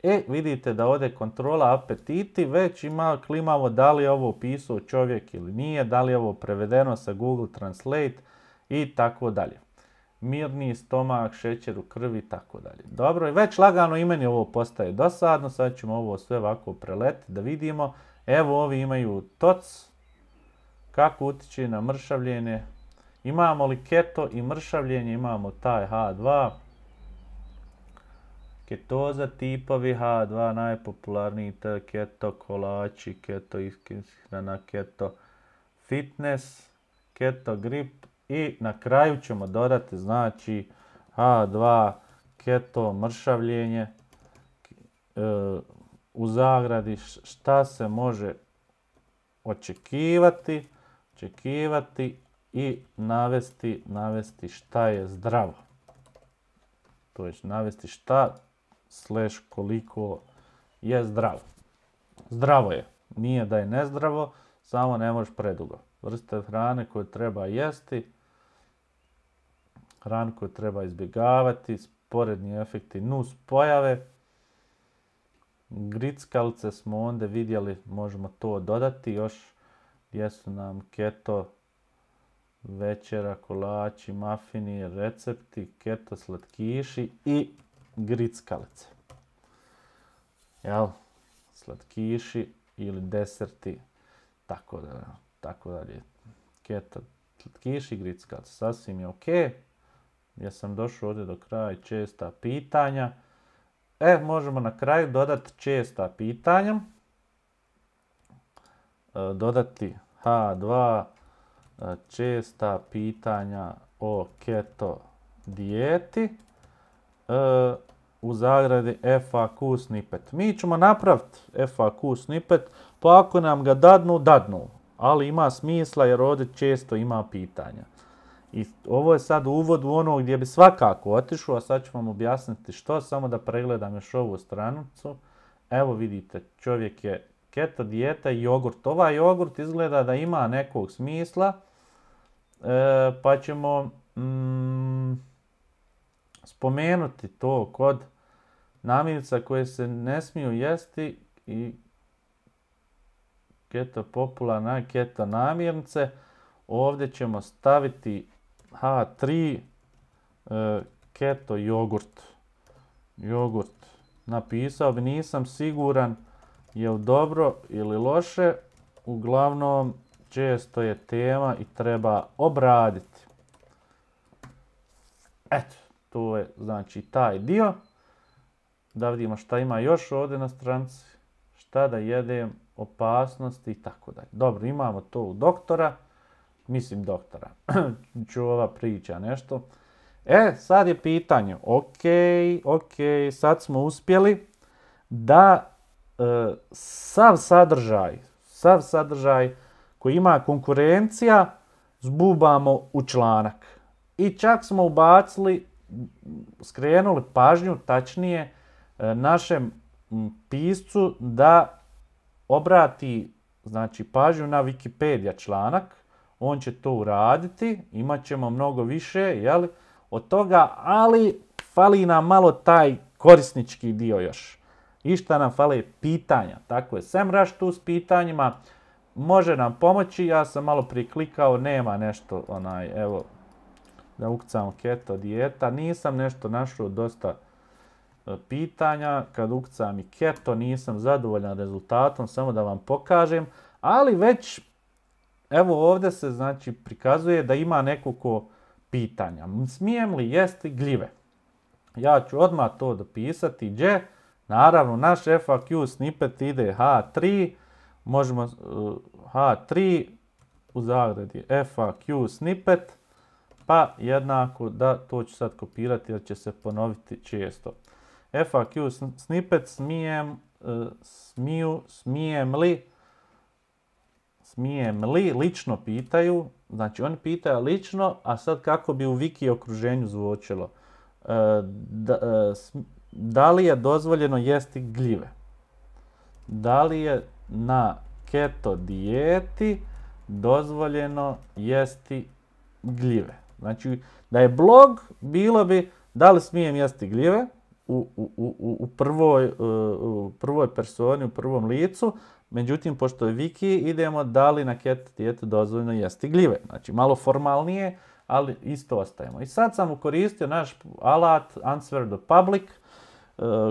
E, vidite da ovdje kontrola apetiti, već ima klimavo da li je ovo pisao čovjek ili nije, da li je ovo prevedeno sa Google Translate i tako dalje. Mirni stomak, šećer u krvi i tako dalje. Dobro, već lagano i meni ovo postaje dosadno, sad ćemo ovo sve ovako preletiti da vidimo. Evo ovi imaju T O C, kako utiče na mršavljenje. Imamo li keto i mršavljenje, imamo taj H dva. Ketoza tipovi H dva, najpopularniji keto kolači, keto ishrana, keto fitness, keto grip i na kraju ćemo dodati znači H dva keto mršavljenje e, u zagradi šta se može očekivati, očekivati i navesti, navesti šta je zdravo. To je navesti šta slash koliko je zdravo. Zdravo je. Nije da je nezdravo, samo ne možeš predugo. Vrste hrane koje treba jesti, hranu koju treba izbjegavati, sporedni efekti nus pojave. Grickalice smo onda vidjeli, možemo to dodati još gdje su nam keto večera, kolači, mafini, recepti, keto slatkiši i grickalice. Jel? Slatkiši ili deserti, tako da, tako dalje. Keto slatkiši i grickalice, sasvim je ok. Ja sam došao ovdje do kraja česta pitanja. E, možemo na kraju dodati česta pitanja. E, dodati H dva česta pitanja o keto dijeti. E, u zagradi F A Q snippet. Mi ćemo napraviti F A Q snippet, pa ako nam ga dadnu, dadnu. Ali ima smisla jer ovdje često ima pitanja. I ovo je sad uvod u ono gdje bi svakako otišao, a sad ću vam objasniti što, samo da pregledam još ovu stranicu. Evo vidite, čovjek je keto dijeta i jogurt. Ovaj jogurt izgleda da ima nekog smisla, e, pa ćemo mm, spomenuti to kod namirnica koje se ne smiju jesti i keto popularne keto namirnice. Ovdje ćemo staviti H tri e, keto jogurt. Jogurt. Napisao bi, nisam siguran je li dobro ili loše. Uglavnom, često je tema i treba obraditi. Eto, to je znači taj dio. Da vidimo šta ima još ovdje na stranici. Šta da jedem, opasnosti i tako dalje. Dobro, imamo to u doktora. Mislim doktora. Čuva priča nešto. E, sad je pitanje. Ok, ok, sad smo uspjeli da e, sav sadržaj, sav sadržaj koji ima konkurencija zbubamo u članak. I čak smo ubacili, skrenuli pažnju, tačnije, e, našem piscu da obrati znači, pažnju na Wikipedia članak. On će to uraditi, imat ćemo mnogo više jeli, od toga, ali fali nam malo taj korisnički dio još. I šta nam fali? Pitanja. Tako je, SEMrush tu s pitanjima može nam pomoći. Ja sam malo priklikao, nema nešto, onaj, evo, da ukucamo keto dijeta. Nisam nešto našao dosta pitanja. Kad ukucam i keto, nisam zadovoljan rezultatom, samo da vam pokažem. Ali već, evo ovdje se znači prikazuje da ima nekoliko pitanja. Smijem li jesti gljive? Ja ću odmah to dopisati. Gdje? Naravno, naš F A Q snippet ide H tri. Možemo uh, H tri u zagradi F A Q snippet. Pa jednako da, to ću sad kopirati jer će se ponoviti često. F A Q snippet smijem, uh, smiju, smijem li, smijem li, lično pitaju. Znači oni pitaju lično, a sad kako bi u wiki okruženju zvučilo. Uh, da, uh, da li je dozvoljeno jesti gljive? Da li je na keto dijeti dozvoljeno jesti gljive? Znači, da je blog, bilo bi da li smijem jesti gljive u, u, u, u, prvoj, u prvoj personi, u prvom licu. Međutim, pošto je wiki, idemo da li na keto dijetu dozvoljeno jesti gljive. Znači, malo formalnije, ali isto ostajemo. I sad sam koristio naš alat Answer the Public.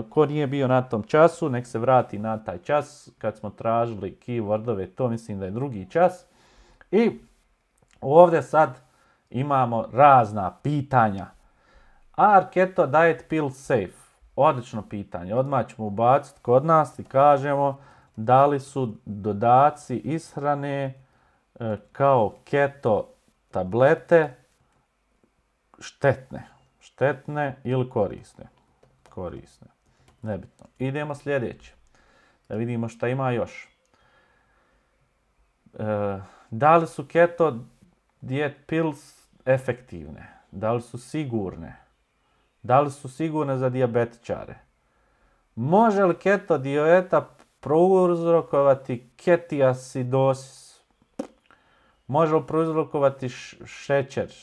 Ko nije bio na tom času, nek se vrati na taj čas kad smo tražili keywordove, to mislim da je drugi čas. I ovdje sad imamo razna pitanja. Are keto diet pills safe? Odlično pitanje. Odmah ćemo ubaciti kod nas i kažemo da li su dodaci ishrane e, kao keto tablete štetne. Štetne ili korisne. Korisne. Nebitno. Idemo sljedeće. Da vidimo šta ima još. E, da li su keto diet pills efektivne? Da li su sigurne? Da li su sigurne za dijabetičare? Može li keto dijeta prouzrokovati ketiacidosis? Može li prouzrokovati šećer?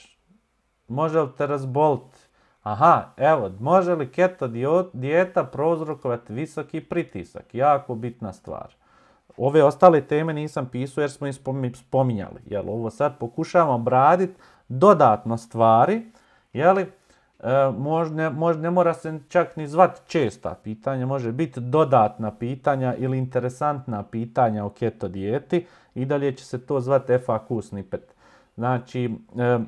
Može li te razboliti? Aha, evo, može li keto dijeta prouzrokovati visoki pritisak? Jako bitna stvar. Ove ostale teme nisam pisao jer smo ih spominjali. Jel, ovo sad pokušavamo obraditi dodatno stvari. Jeli, e, možda, možda ne mora se čak ni zvati česta pitanja, može biti dodatna pitanja ili interesantna pitanja o keto dijeti. I dalje će se to zvati F A Q snippet. Znači, e,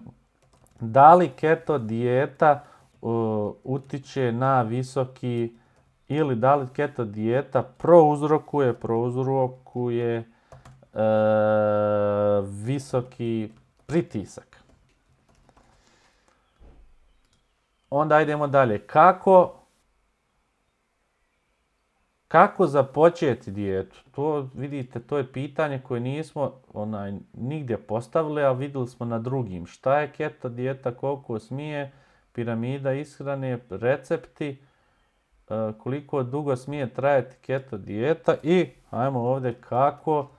da li keto dijeta uh, utiče na visoki ili da li keto dijeta prouzrokuje, prouzrokuje uh, visoki pritisak. Onda idemo dalje. Kako, kako započeti dijetu? To vidite, to je pitanje koje nismo onaj, nigdje postavili, a vidjeli smo na drugim. Šta je keto dijeta, koliko smije, piramida ishrane, recepti, koliko dugo smije trajati keto dijeta i ajmo ovdje kako,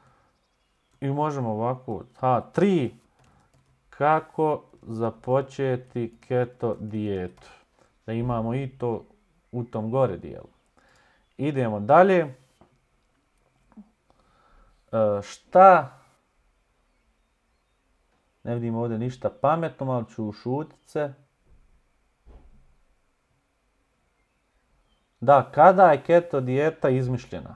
i možemo ovako, ha, tri, kako započeti keto dijetu. Da imamo i to u tom gore dijelu. Idemo dalje. E, šta? Ne vidim ovdje ništa pametno, malo ću ušutit se. Da, kada je keto dijeta izmišljena?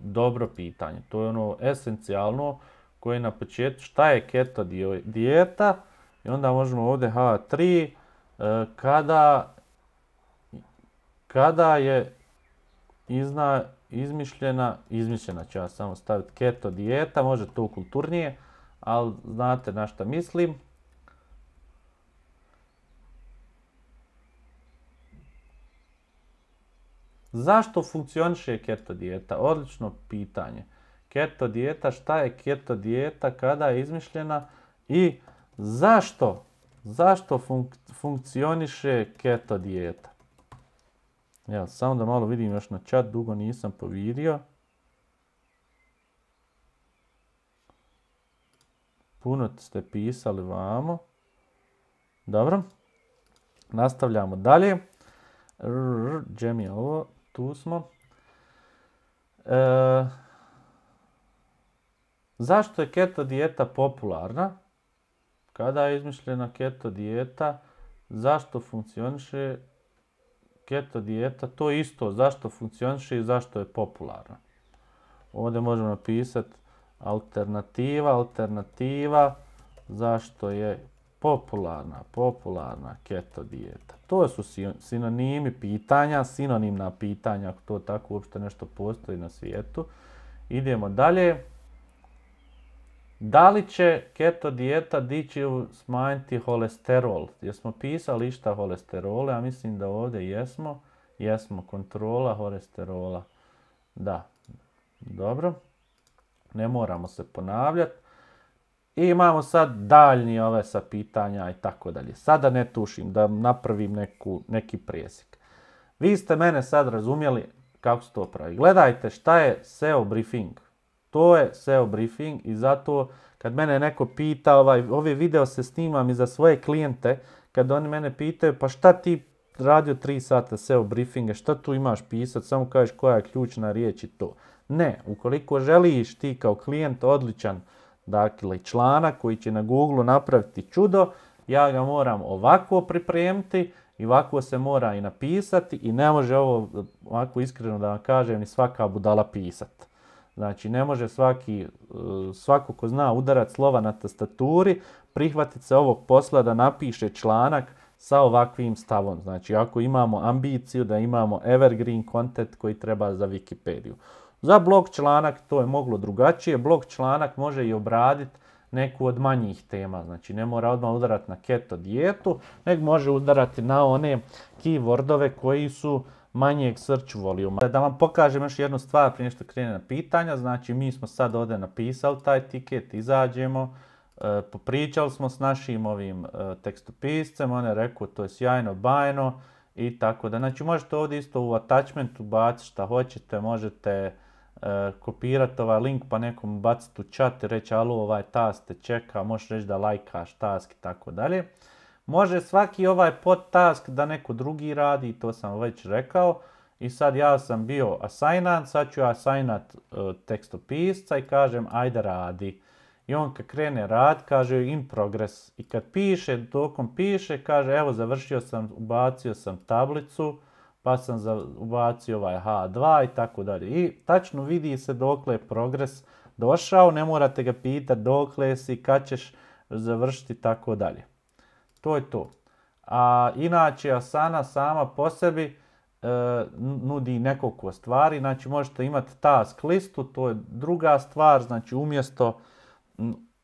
Dobro pitanje. To je ono esencijalno koje je na početku. Šta je keto dijeta? I onda možemo ovdje H tri. E, kada, kada je izna, izmišljena, izmišljena ću ja samo staviti keto dijeta, može to kulturnije, ali znate na šta mislim. Zašto funkcioniše keto dijeta? Odlično pitanje. Keto dijeta, šta je keto dijeta, kada je izmišljena i zašto, zašto funk, funkcioniše keto dijeta? Evo, samo da malo vidim još na chat, dugo nisam povidio. Puno ste pisali vamo. Dobro. Nastavljamo dalje. Gdje mi je ovo? Tu smo. E, zašto je keto dijeta popularna? Kada je izmišljena keto dijeta? Zašto funkcioniše keto dijeta? To je isto. Zašto funkcioniše i zašto je popularna? Ovdje možemo napisati alternativa, alternativa. Zašto je popularna, popularna keto dijeta. To su sinonimi pitanja, sinonimna pitanja, ako to tako uopšte nešto postoji na svijetu. Idemo dalje. Da li će keto dijeta dići smanjiti holesterol? Jesmo pisali išta holesterole, a mislim da ovdje jesmo. Jesmo, kontrola holesterola. Da, dobro. Ne moramo se ponavljati. I imamo sad daljnji ove sa pitanja i tako dalje. Sada ne tušim, da napravim neku, neki presjek. Vi ste mene sad razumjeli kako se to pravi. Gledajte šta je S E O briefing. To je S E O briefing i zato kad mene neko pita, ovaj, ove video se snimam i za svoje klijente, kad oni mene pitaju pa šta ti radio tri sata S E O briefinge, šta tu imaš pisati, samo kažeš koja je ključna riječ i to. Ne, ukoliko želiš ti kao klijent odličan dakle članak koji će na Google napraviti čudo, ja ga moram ovako pripremiti i ovako se mora i napisati i ne može ovo, ovako iskreno da vam kažem, ni svaka budala pisati. Znači ne može svaki, svako ko zna udarati slova na tastaturi, prihvatiti se ovog posla da napiše članak sa ovakvim stavom. Znači ako imamo ambiciju da imamo evergreen content koji treba za Wikipediju. Za blog članak to je moglo drugačije. Blog članak može i obraditi neku od manjih tema. Znači ne mora odmah udarati na keto dijetu, nego može udarati na one keywordove koji su manjeg search volumea. Da vam pokažem još jednu stvar prije što krene na pitanja. Znači mi smo sad ovdje napisali taj tiket, izađemo, e, popričali smo s našim ovim e, tekstopiscem, on je rekao to je sjajno, bajno i tako da. Znači možete ovdje isto u attachmentu baciti šta hoćete, možete e, kopirati ovaj link pa nekom baciti u chat i reći alo ovaj task te čeka, možeš reći da lajkaš task i tako dalje. Može svaki ovaj podtask da neko drugi radi, to sam već rekao. I sad ja sam bio assignant, sad ću assignat uh, tekstopisca i kažem ajde radi. I on kad krene rad kaže in progress. I kad piše, dokom piše, kaže evo završio sam, ubacio sam tablicu, pa sam za, ubacio ovaj H dva i tako dalje. I tačno vidi se dokle je progres došao, ne morate ga pitati dokle si, kad ćeš završiti i tako dalje. To je to. A inače Asana sama po sebi e, nudi nekoliko stvari. Znači možete imati task listu, to je druga stvar. Znači umjesto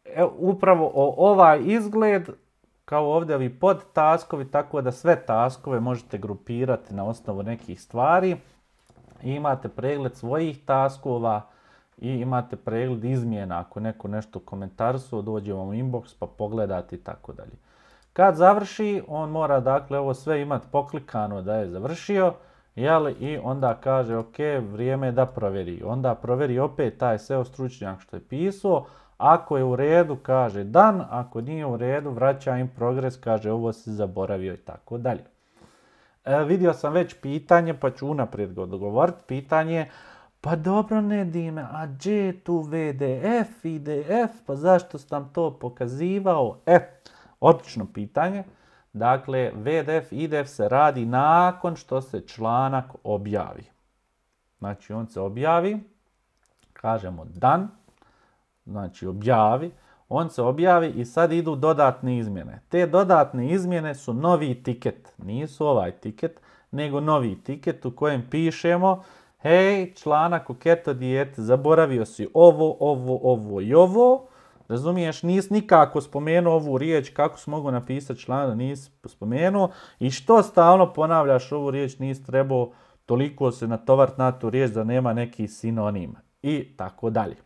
e, upravo o, ovaj izgled kao ovdje ovi podtaskovi, tako da sve taskove možete grupirati na osnovu nekih stvari. I imate pregled svojih taskova i imate pregled izmjena. Ako neko nešto komentarsuo, dođe vam u inbox pa pogledate i tako dalje. Kad završi, on mora dakle ovo sve imati poklikano da je završio, jeli, i onda kaže ok, vrijeme je da provjeri. Onda provjeri opet taj S E O stručnjak što je pisao, ako je u redu kaže dan, ako nije u redu vraća im progres, kaže ovo si zaboravio i tako dalje. E, vidio sam već pitanje pa ću unaprijed ga odgovoriti. Pitanje, pa dobro Nedime, a gdje je tu V D F, I D F, pa zašto sam to pokazivao? E, odlično pitanje. Dakle, V D F, I D F se radi nakon što se članak objavi. Znači, on se objavi, kažemo dan, znači objavi, on se objavi i sad idu dodatne izmjene. Te dodatne izmjene su novi tiket, nisu ovaj tiket, nego novi tiket u kojem pišemo hej, članak o keto dijeti, zaboravio si ovo, ovo, ovo i ovo. Razumiješ, nisi nikako spomenuo ovu riječ, kako si mogu napisati članak, nisi spomenuo. I što stalno ponavljaš ovu riječ, nisi trebao toliko se natovart na tu riječ da nema neki sinonim. I tako dalje.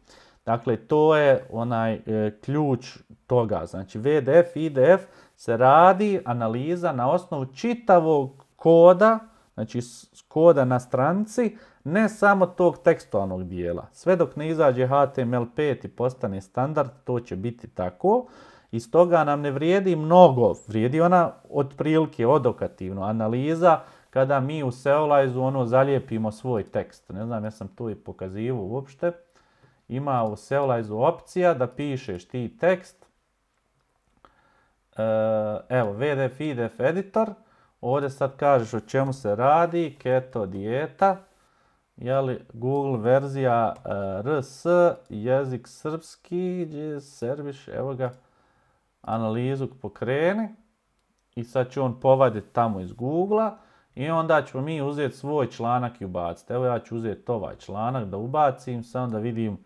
Dakle, to je onaj e, ključ toga. Znači, V D F, I D F se radi analiza na osnovu čitavog koda, znači koda na stranici, ne samo tog tekstualnog dijela. Sve dok ne izađe H T M L pet i postane standard, to će biti tako. I stoga nam ne vrijedi mnogo, vrijedi ona otprilike odokativno analiza kada mi u Seolize-u ono zalijepimo svoj tekst. Ne znam, ja sam to i pokazivao uopšte. Ima u Seolize-u opcija da pišeš ti tekst. Evo, V D F, I D F editor. Ovdje sad kažeš o čemu se radi, keto dijeta. Jeli, Google verzija uh, R S, jezik srpski, serbiš, evo ga. analizu pokreni i sad će on povaditi tamo iz Google-a i onda ćemo mi uzeti svoj članak i ubaciti. Evo ja ću uzeti ovaj članak da ubacim, samo da vidim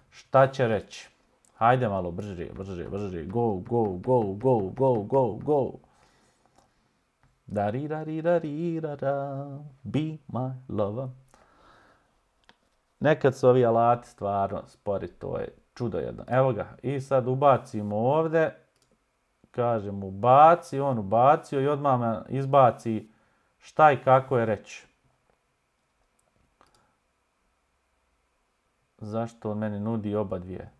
šta će reći. Hajde malo brže, brže, brže, go, go, go, go, go, go, go. Dari, dari, dari, da, be my lover. Nekad su ovi alati stvarno spori, to je čudo jedno. Evo ga, i sad ubacimo ovdje, kažem ubaci, on ubacio i odmah me izbaci šta i kako je reći. Zašto on meni nudi oba dvije?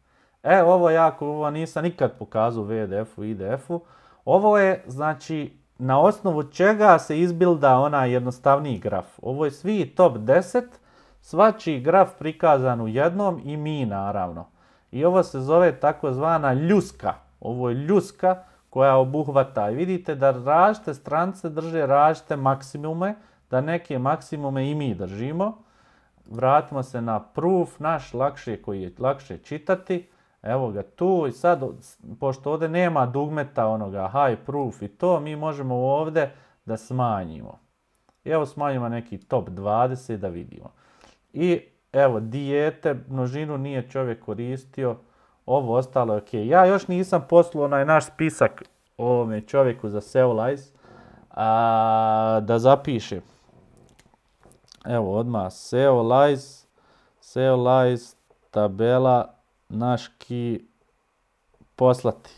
E, ovo jako, ovo nisam nikad pokazao u V D F-u i I D F-u. Ovo je, znači, na osnovu čega se izbilda onaj jednostavniji graf. Ovo je svi top deset, svačiji graf prikazan u jednom i mi naravno. I ovo se zove takozvana ljuska. Ovo je ljuska koja obuhvata. I vidite da različite stranice drže različite maksimume, da neke maksimume i mi držimo. Vratimo se na proof, naš lakše koji je lakše čitati. Evo ga tu i sad, pošto ovdje nema dugmeta onoga high proof i to, mi možemo ovdje da smanjimo. I evo smanjimo neki top dvadeset da vidimo. I evo dijete, množinu nije čovjek koristio, ovo ostalo je ok. Ja još nisam poslao onaj naš spisak ovome čovjeku za Seolize a, da zapiše. Evo odmah Seolize, Seolize, tabela, naš key poslati.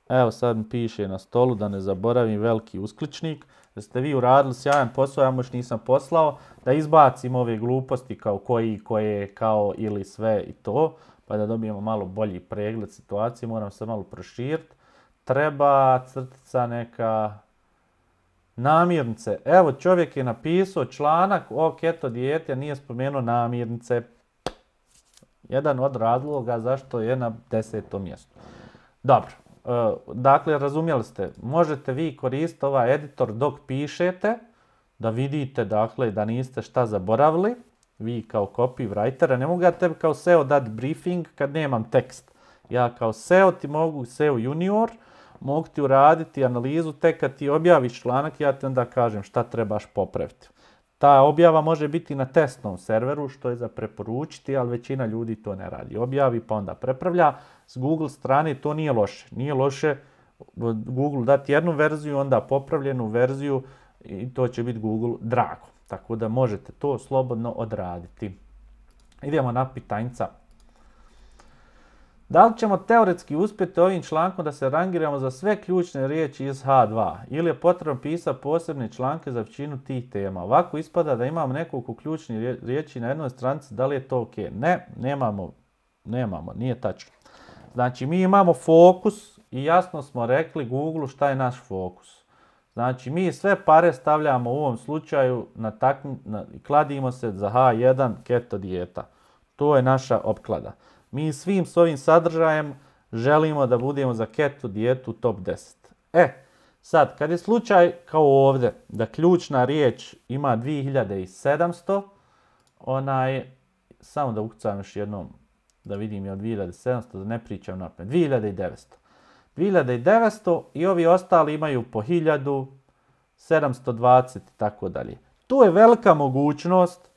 Evo sad mi piše na stolu da ne zaboravim veliki uskličnik. Da ste vi uradili sjajan posao, ja još nisam poslao. Da izbacim ove gluposti kao koji, koje, kao ili sve i to. Pa da dobijemo malo bolji pregled situacije. Moram se malo proširiti. Treba crtica neka namirnice. Evo čovjek je napisao članak o keto dijeti, a nije spomenuo namirnice. Jedan od razloga zašto je na desetom mjestu. Dobro, dakle razumjeli ste, možete vi koristiti ovaj editor dok pišete, da vidite dakle da niste šta zaboravili, vi kao copywriter, ne mogu ja tebi kao S E O dati briefing kad nemam tekst. Ja kao S E O ti mogu, S E O junior, mogu ti uraditi analizu, tek kad ti objaviš članak, ja ti onda kažem šta trebaš popraviti. Ta objava može biti na testnom serveru, što je za preporučiti, ali većina ljudi to ne radi. Objavi pa onda prepravlja. S Google strane to nije loše. Nije loše Google dati jednu verziju, onda popravljenu verziju i to će biti Google drago. Tako da možete to slobodno odraditi. Idemo na pitanjca. Da li ćemo teoretski uspjeti ovim člankom da se rangiramo za sve ključne riječi iz H dva ili je potrebno pisati posebne članke za većinu tih tema? Ovako ispada da imamo nekoliko ključnih riječi na jednoj stranici, da li je to ok? Ne, nemamo, nemamo, nije tačno. Znači mi imamo fokus i jasno smo rekli Google šta je naš fokus. Znači mi sve pare stavljamo u ovom slučaju na takm, na, kladimo se za H jedan keto dijeta. To je naša opklada. Mi svim s ovim sadržajem želimo da budemo za keto dijetu top deset. E, sad, kad je slučaj kao ovdje, da ključna riječ ima dvije hiljade sedamsto, onaj, samo da ukucam još jednom, da vidim je od dvije hiljade sedamsto, da ne pričam napred, dvije hiljade devetsto. dvije hiljade devetsto i ovi ostali imaju po hiljadu, sedamsto dvadeset i tako dalje. Tu je velika mogućnost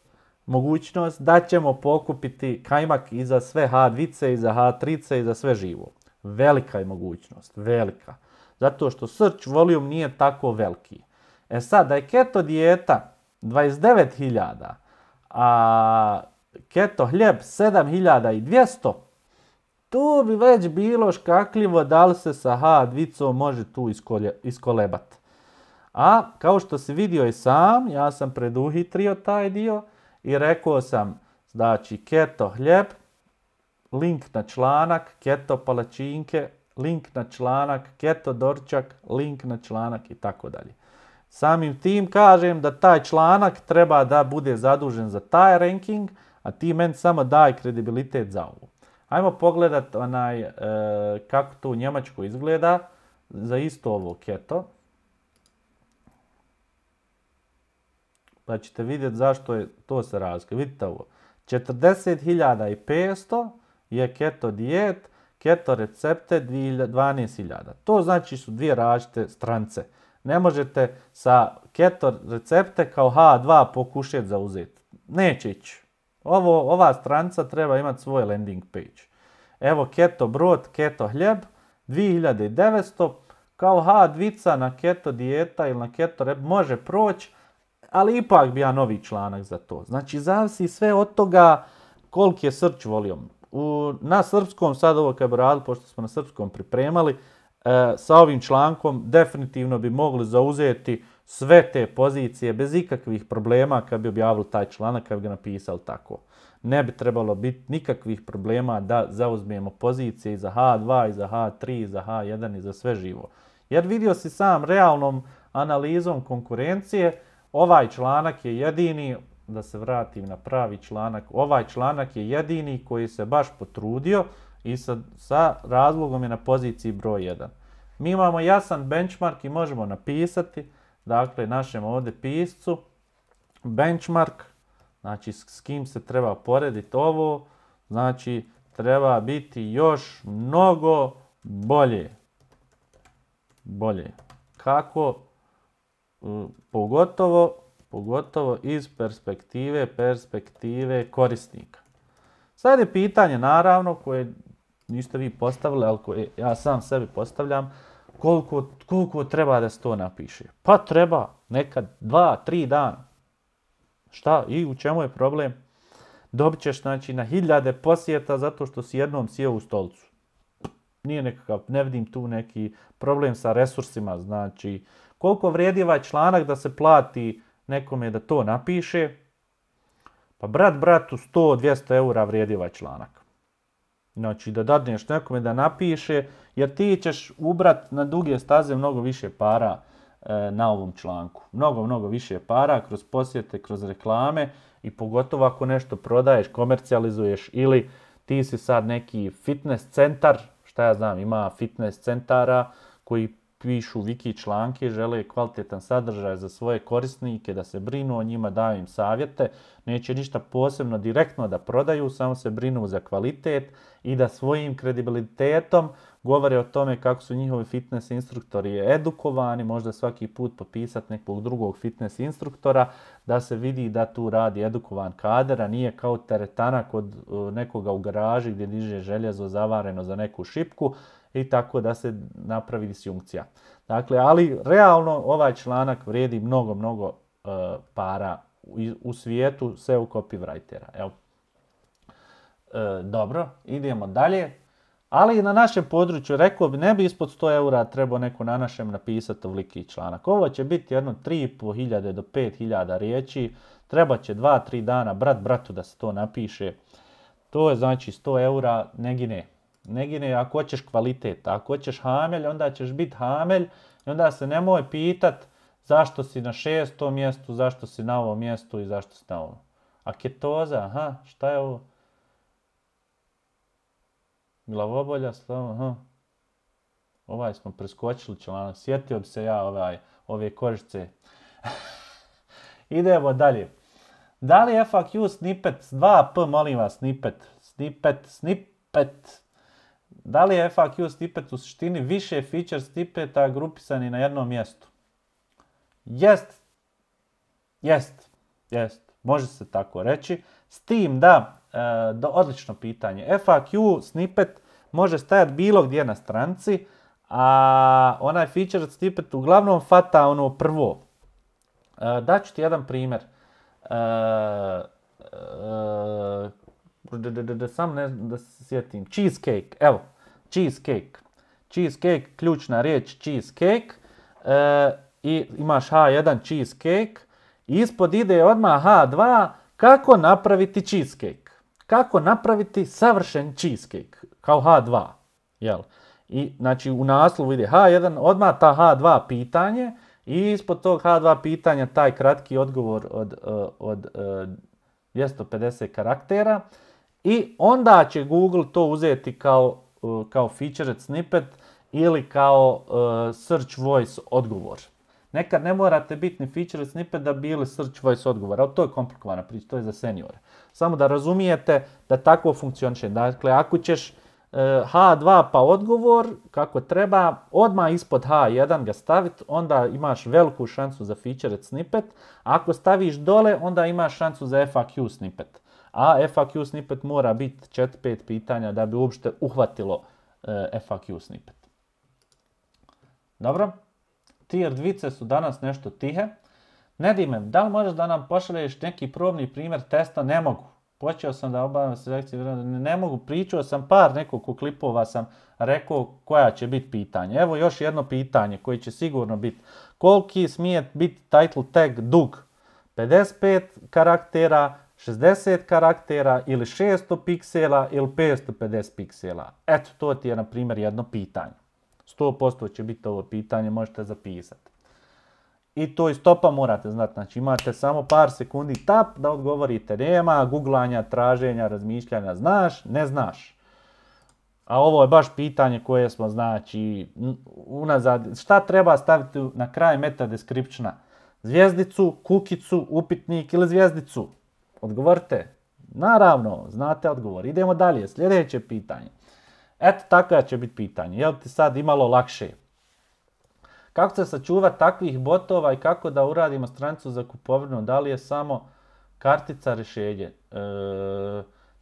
mogućnost da ćemo pokupiti kajmak i za sve H dva, i za H tri i za sve živo. Velika je mogućnost, velika. Zato što search volume nije tako veliki. E sad, da je keto dijeta dvadeset devet hiljada, a keto hljeb sedam hiljada dvjesto, tu bi već bilo škakljivo da li se sa H dva može tu iskolebati. A kao što si vidio i sam, ja sam preduhitrio taj dio, i rekao sam, znači, keto hljeb, link na članak, keto palačinke, link na članak, keto dorčak, link na članak i tako dalje. Samim tim kažem da taj članak treba da bude zadužen za taj ranking, a ti meni samo daj kredibilitet za ovo. Ajmo pogledati onaj, e, kako to u Njemačkoj izgleda za isto ovo keto. Pa ćete vidjeti zašto je to se razlika. Vidite ovo. četrdeset hiljada petsto je keto dijet. keto recepte dvanaest hiljada. To znači su dvije različite strance. Ne možete sa keto recepte kao ha dva pokušati zauzeti. Neće ići. Ovo, ova stranca treba imati svoj landing page. Evo keto brod, keto hljeb, dvije hiljade devetsto, kao ha dvica na keto dijeta ili na keto rep može proći, ali ipak bi ja novi članak za to. Znači zavisi sve od toga koliki je search volume. U, na srpskom, sad ovo kad bi radili, pošto smo na srpskom pripremali, e, sa ovim člankom definitivno bi mogli zauzeti sve te pozicije bez ikakvih problema kad bi objavili taj članak, kad bi ga napisali tako. Ne bi trebalo biti nikakvih problema da zauzmemo pozicije i za ha dva, i za ha tri, i za ha jedan, i za sve živo. Jer vidio si sam realnom analizom konkurencije, ovaj članak je jedini, da se vratim na pravi članak, ovaj članak je jedini koji se baš potrudio i sa, sa razlogom je na poziciji broj jedan. Mi imamo jasan benchmark i možemo napisati, dakle, našem ovdje piscu, benchmark, znači s kim se treba porediti ovo, znači treba biti još mnogo bolje. Bolje. Kako? Pogotovo, pogotovo iz perspektive, perspektive korisnika. Sad je pitanje, naravno, koje niste vi postavili, ali koje ja sam sebi postavljam, koliko, koliko treba da se to napiše. Pa treba nekad dva, tri dana. Šta? I u čemu je problem? Dobit ćeš, znači, na hiljade posjeta zato što si jednom sjeo u stolicu. Nije nekakav, ne vidim tu neki problem sa resursima, znači, koliko vrijedi ovaj članak da se plati nekome da to napiše? Pa brat bratu sto do dvjesto eura vrijedi ovaj članak. Znači da dadneš nekome da napiše, jer ti ćeš ubrat na duge staze mnogo više para e, na ovom članku. Mnogo, mnogo više para kroz posjete, kroz reklame i pogotovo ako nešto prodaješ, komercijalizuješ ili ti si sad neki fitness centar, šta ja znam, ima fitness centara koji pišu wiki članke, žele kvalitetan sadržaj za svoje korisnike, da se brinu o njima, daju im savjete, neće ništa posebno direktno da prodaju, samo se brinu za kvalitet i da svojim kredibilitetom govore o tome kako su njihovi fitness instruktori edukovani, možda svaki put popisati nekog drugog fitness instruktora, da se vidi da tu radi edukovan kader, a nije kao teretana kod nekoga u garaži gdje diže željezo zavareno za neku šipku, i tako da se napravi disjunkcija. Dakle, ali realno ovaj članak vrijedi mnogo, mnogo uh, para u, u svijetu S E O copywritera. Evo. E, dobro, idemo dalje. Ali na našem području, rekao bi, ne bi ispod sto eura trebao neko na našem napisati ovoliki članak. Ovo će biti jedno tri i pol hiljade do pet hiljada riječi. Treba će dva tri dana brat bratu da se to napiše. To je znači sto eura, ne gine. Ne gine ako hoćeš kvalitet. Ako hoćeš hamelj, onda ćeš biti hamelj i onda se nemoj pitat zašto si na šestom mjestu, zašto si na ovom mjestu i zašto si na ovom. A ketoza, aha, šta je ovo? Glavobolja, slavo, aha. Ovaj smo preskočili članak, sjetio bi se ja ovaj, ove korišce. Idemo dalje. Da li F A Q snippet, dva P, molim vas, snippet, snippet, snippet. Da li je F A Q snippet u suštini više feature snippeta grupisani na jednom mjestu? Jest. Jest. Jest. Može se tako reći. S tim da, e, da odlično pitanje. F A Q snippet može stajati bilo gdje na stranici, a onaj feature snippet uglavnom fata ono prvo. E, daću ti jedan primjer. E, e, sam ne da se sjetim. Cheesecake. Evo. Cheesecake. Cheesecake, ključna riječ cheesecake. E, I imaš H jedan cheesecake. I ispod ide odmah H dva. Kako napraviti cheesecake? Kako napraviti savršen cheesecake? Kao H dva. Jel? I znači u naslovu ide H jedan, odmah ta H dva pitanje. I ispod tog H dva pitanja taj kratki odgovor od, od, od dvjesto pedeset karaktera. I onda će Google to uzeti kao, kao featured snippet ili kao uh, search voice odgovor. Nekad ne morate biti ni featured snippet da bi bili search voice odgovor, ali to je komplikovana priča, to je za seniore. Samo da razumijete da tako funkcioniše. Dakle, ako ćeš uh, ha dva pa odgovor, kako treba, odmah ispod ha jedan ga staviti, onda imaš veliku šansu za featured snippet. Ako staviš dole, onda imaš šansu za F A Q snippet. A F A Q snippet mora biti četiri pet pitanja da bi uopšte uhvatilo F A Q snippet. Dobro, tier dvice su danas nešto tihe. Nedime, da li možeš da nam pošalješ neki probni primjer testa? Ne mogu. Počeo sam da obavljam selekciju, ne mogu, pričao sam par nekoliko klipova, sam rekao koja će biti pitanje. Evo još jedno pitanje koje će sigurno biti. Koliki smije biti title tag dug? pedeset pet karaktera, šezdeset karaktera ili šesto piksela ili petsto pedeset piksela? Eto, to ti je na primjer jedno pitanje. sto posto će biti ovo pitanje, možete zapisati. I to iz topa morate znati, znači imate samo par sekundi tap da odgovorite, nema googlanja, traženja, razmišljanja, znaš, ne znaš. A ovo je baš pitanje koje smo, znači, unazad, šta treba staviti na kraj meta descriptiona? Zvjezdicu, kukicu, upitnik ili zvjezdicu? Odgovorite. Naravno, znate odgovor. Idemo dalje, sljedeće pitanje. Eto, takva će biti pitanje. Je li ti sad imalo lakše? Kako se sačuvati takvih botova i kako da uradimo stranicu za kupovinu? Da li je samo kartica rješenje? E,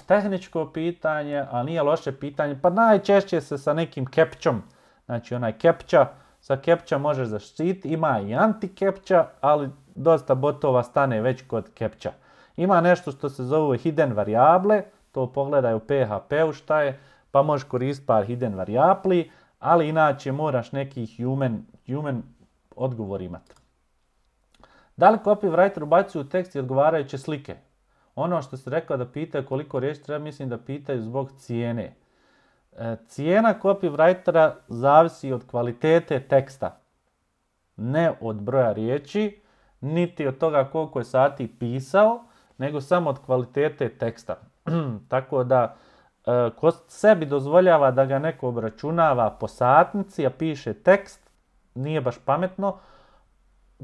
tehničko pitanje, a nije loše pitanje. Pa najčešće se sa nekim captchom, znači onaj captcha, sa captcha možeš zaštiti. Ima i anti-captcha, ali dosta botova stane već kod captcha. Ima nešto što se zove hidden varijable, to pogledaj u P H P-u šta je, pa možeš koristiti par hidden varijabli, ali inače moraš neki human, human odgovor imati. Da li copywriter ubacuje u tekst i odgovarajuće slike? Ono što se rekao da pitaju koliko riječi treba, mislim da pitaju zbog cijene. E, cijena copywritera zavisi od kvalitete teksta. Ne od broja riječi, niti od toga koliko je sati pisao, nego samo od kvalitete teksta. Tako da, e, ko sebi dozvoljava da ga neko obračunava po satnici, a piše tekst, nije baš pametno.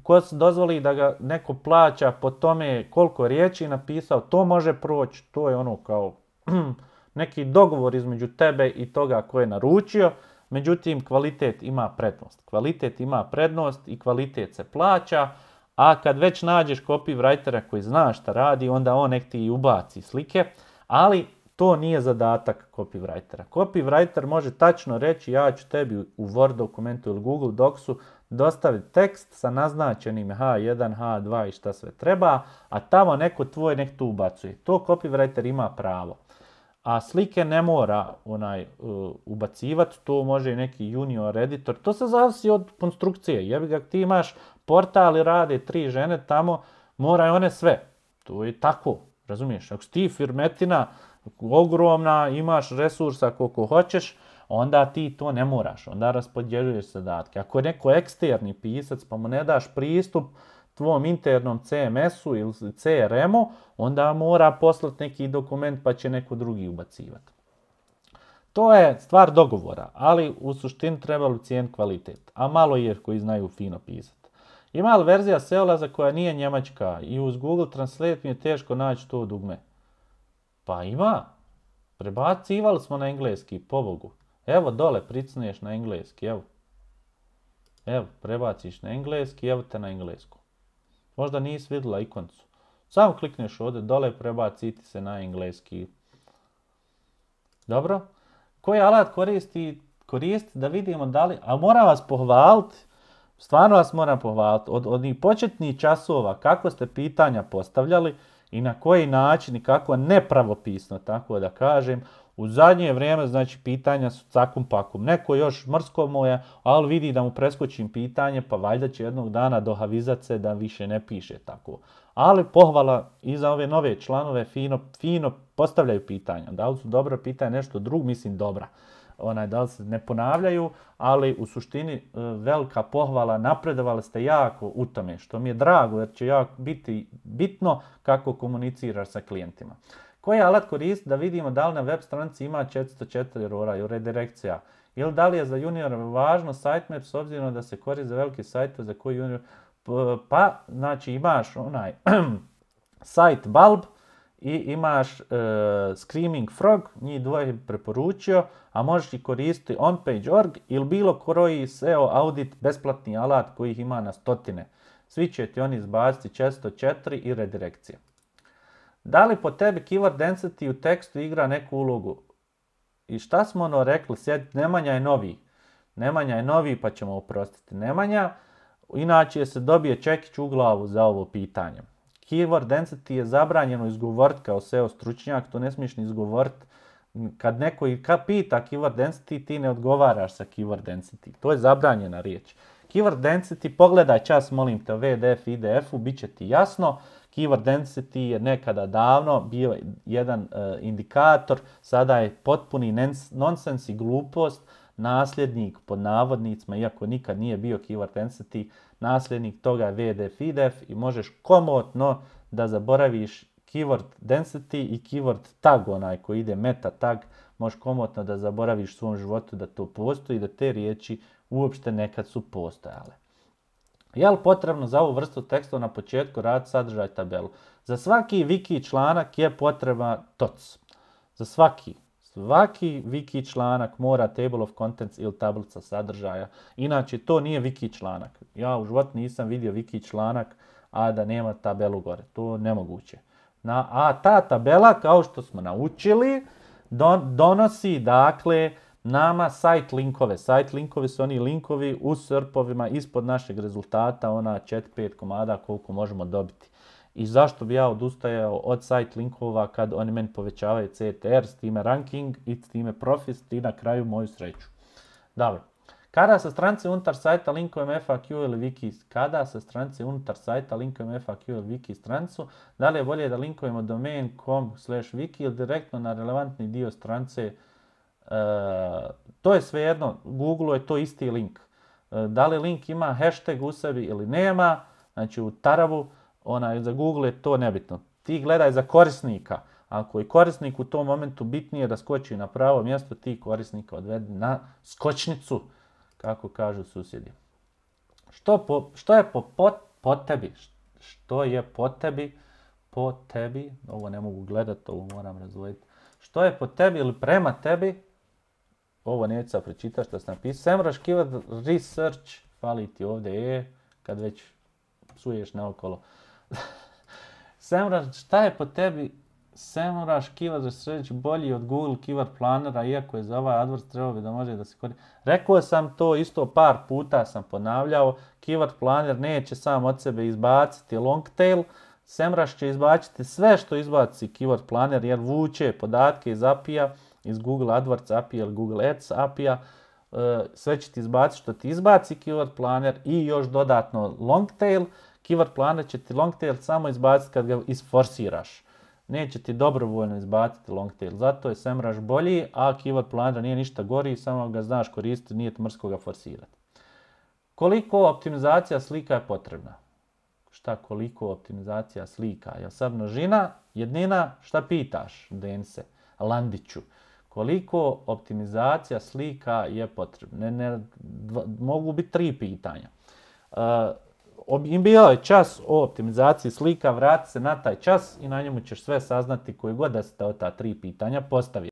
Ko se dozvoli da ga neko plaća po tome koliko riječi napisao, to može proći, to je ono kao neki dogovor između tebe i toga ko je naručio, međutim kvalitet ima prednost. Kvalitet ima prednost i kvalitet se plaća, a kad već nađeš copywritera koji zna šta radi, onda on nek ti ubaci slike, ali to nije zadatak copywritera. Copywriter može tačno reći ja ću tebi u Word dokumentu ili Google Docsu dostaviti tekst sa naznačenim ha jedan, ha dva i šta sve treba, a tamo neko tvoj nek tu ubacuje. To copywriter ima pravo. A slike ne mora onaj uh, ubacivati, to može i neki junior editor. To se zavisi od konstrukcije. Jebi ga, ti imaš portal i rade tri žene tamo, moraju one sve. To je tako, razumiješ? Ako si ti firmetina ogromna, imaš resursa koliko hoćeš, onda ti to ne moraš, onda raspodjeljuješ zadatke. Ako je neko eksterni pisac pa mu ne daš pristup tvom internom C M S-u ili C R M-u, onda mora poslati neki dokument pa će neko drugi ubacivati. To je stvar dogovora, ali u suštini trebalo cijeniti kvalitet, a malo je koji znaju fino pisati. Ima li verzija Seolaza koja nije njemačka i uz Google Translate mi je teško naći to dugme? Pa ima. Prebacivali smo na engleski, pobogu. Evo dole pricneš na engleski, evo. Evo, prebaciš na engleski, evo te na englesku. Možda nisi vidjela ikoncu. Samo klikneš ovdje dole, prebaciti se na engleski. Dobro. Koji alat koristi, koristi da vidimo da li, a moram vas pohvaliti, stvarno vas moram pohvaliti, od onih početnih časova kako ste pitanja postavljali i na koji način i kako nepravopisno, tako da kažem, u zadnje vrijeme, znači, pitanja su cakum pakum. Neko još mrsko moje, ali vidi da mu preskočim pitanje, pa valjda će jednog dana dohavizat se da više ne piše tako. Ali pohvala i za ove nove članove, fino, fino postavljaju pitanja. Da li su dobra pitanja, nešto drugo, mislim dobra. Onaj, da li se ne ponavljaju, ali u suštini velika pohvala, napredovali ste jako u tome, što mi je drago, jer će jako biti bitno kako komuniciraš sa klijentima. Koji alat koristi da vidimo da li na web stranici ima četiristo četiri erora i redirekcija? Ili da li je za junior važno sitemap s obzirom da se koristi za veliki sajt za koji junior... Pa, znači imaš onaj site bulb i imaš uh, Screaming Frog, njih dvoje preporučio, a možeš i koristiti onpage dot org ili bilo koji S E O audit, besplatni alat kojih ima na stotine. Svi će ti oni izbaciti često četiri i redirekcije. Da li po tebi keyword density u tekstu igra neku ulogu? I šta smo ono rekli? Sjed, Nemanja je novi. Nemanja je novi pa ćemo oprostiti Nemanja. Inače se dobije čekić u glavu za ovo pitanje. Keyword density je zabranjeno izgovoriti kao S E O stručnjak, to ne smiješ ni izgovoriti. Kad neko i ka pita keyword density, ti ne odgovaraš sa keyword density. To je zabranjena riječ. Keyword density, pogledaj čas, molim te, V D F i D F-u, bit će ti jasno. Keyword density je nekada davno bio jedan uh, indikator, sada je potpuni nonsens i glupost, nasljednik pod navodnicima, iako nikad nije bio keyword density, nasljednik toga je V D F i D F i možeš komotno da zaboraviš keyword density i keyword tag, onaj koji ide meta tag, možeš komotno da zaboraviš u svom životu da to postoji i da te riječi uopšte nekad su postojale. Je li potrebno za ovu vrstu tekstova na početku raditi sadržaj tabelu? Za svaki wiki članak je potreba T O C. Za svaki. Svaki wiki članak mora table of contents ili tablica sadržaja. Inače, to nije wiki članak. Ja u životu nisam vidio wiki članak, a da nema tabelu gore. To je nemoguće. Na, a ta tabela, kao što smo naučili, don, donosi, dakle, nama site linkove. Site linkovi su oni linkovi u S E R P-ovima ispod našeg rezultata, ona četiri pet komada koliko možemo dobiti. I zašto bi ja odustajao od site linkova kad oni meni povećavaju C T R, s time ranking i s time profit i na kraju moju sreću. Dobro. Kada se stranice unutar sajta linkujem F A Q ili wiki, kada se stranice unutar sajta linkujem F A Q ili wiki stranicu, da li je bolje da linkujemo domain dot com slash wiki ili direktno na relevantni dio stranice? Uh, to je svejedno, Google je to isti link. Uh, da li link ima hashtag u sebi ili nema, znači u tarabu, onaj, za Google je to nebitno. Ti gledaj za korisnika. Ako je korisnik u tom momentu bitnije da skoči na pravo mjesto, ti korisnika odvedi na skočnicu, kako kažu susjedi. Što, po, što je po, po, po tebi? Što je po tebi? Po tebi, ovo ne mogu gledati, ovo moram razvojiti. Što je po tebi ili prema tebi? Ovo neću sad pročitati što sam napisao. SEMrush Keyword Research, fali ti ovdje je, kad već psuješ naokolo. SEMrush, šta je po tebi SEMrush Keyword Research bolji od Google Keyword Plannera, iako je za ovaj AdWords trebao bi da može da se koristi. Rekao sam to isto par puta, sam ponavljao. Keyword Planner neće sam od sebe izbaciti long tail. SEMrush će izbaciti sve što izbaci Keyword Planner jer vuče podatke iz A P I-a, iz Google AdWords A P I-a ili Google Ads A P I-a. Sve će ti izbaciti što ti izbaci Keyword Planner i još dodatno long tail. Keyword Planner će ti long tail samo izbaciti kad ga isforsiraš. Neće ti dobrovoljno izbaciti long tail. Zato je SEMrush bolji, a Keyword Planner nije ništa gori, samo ga znaš koristiti, nije ti mrsko ga forsirati. Koliko optimizacija slika je potrebna? Šta koliko optimizacija slika? Je sad množina, jednina, šta pitaš, Dense, Landiću? Koliko optimizacija slika je potrebna? Ne, ne, dva, mogu biti tri pitanja. Uh, Bio je čas o optimizaciji slika, vrati se na taj čas i na njemu ćeš sve saznati koje god da se ta tri pitanja postavi.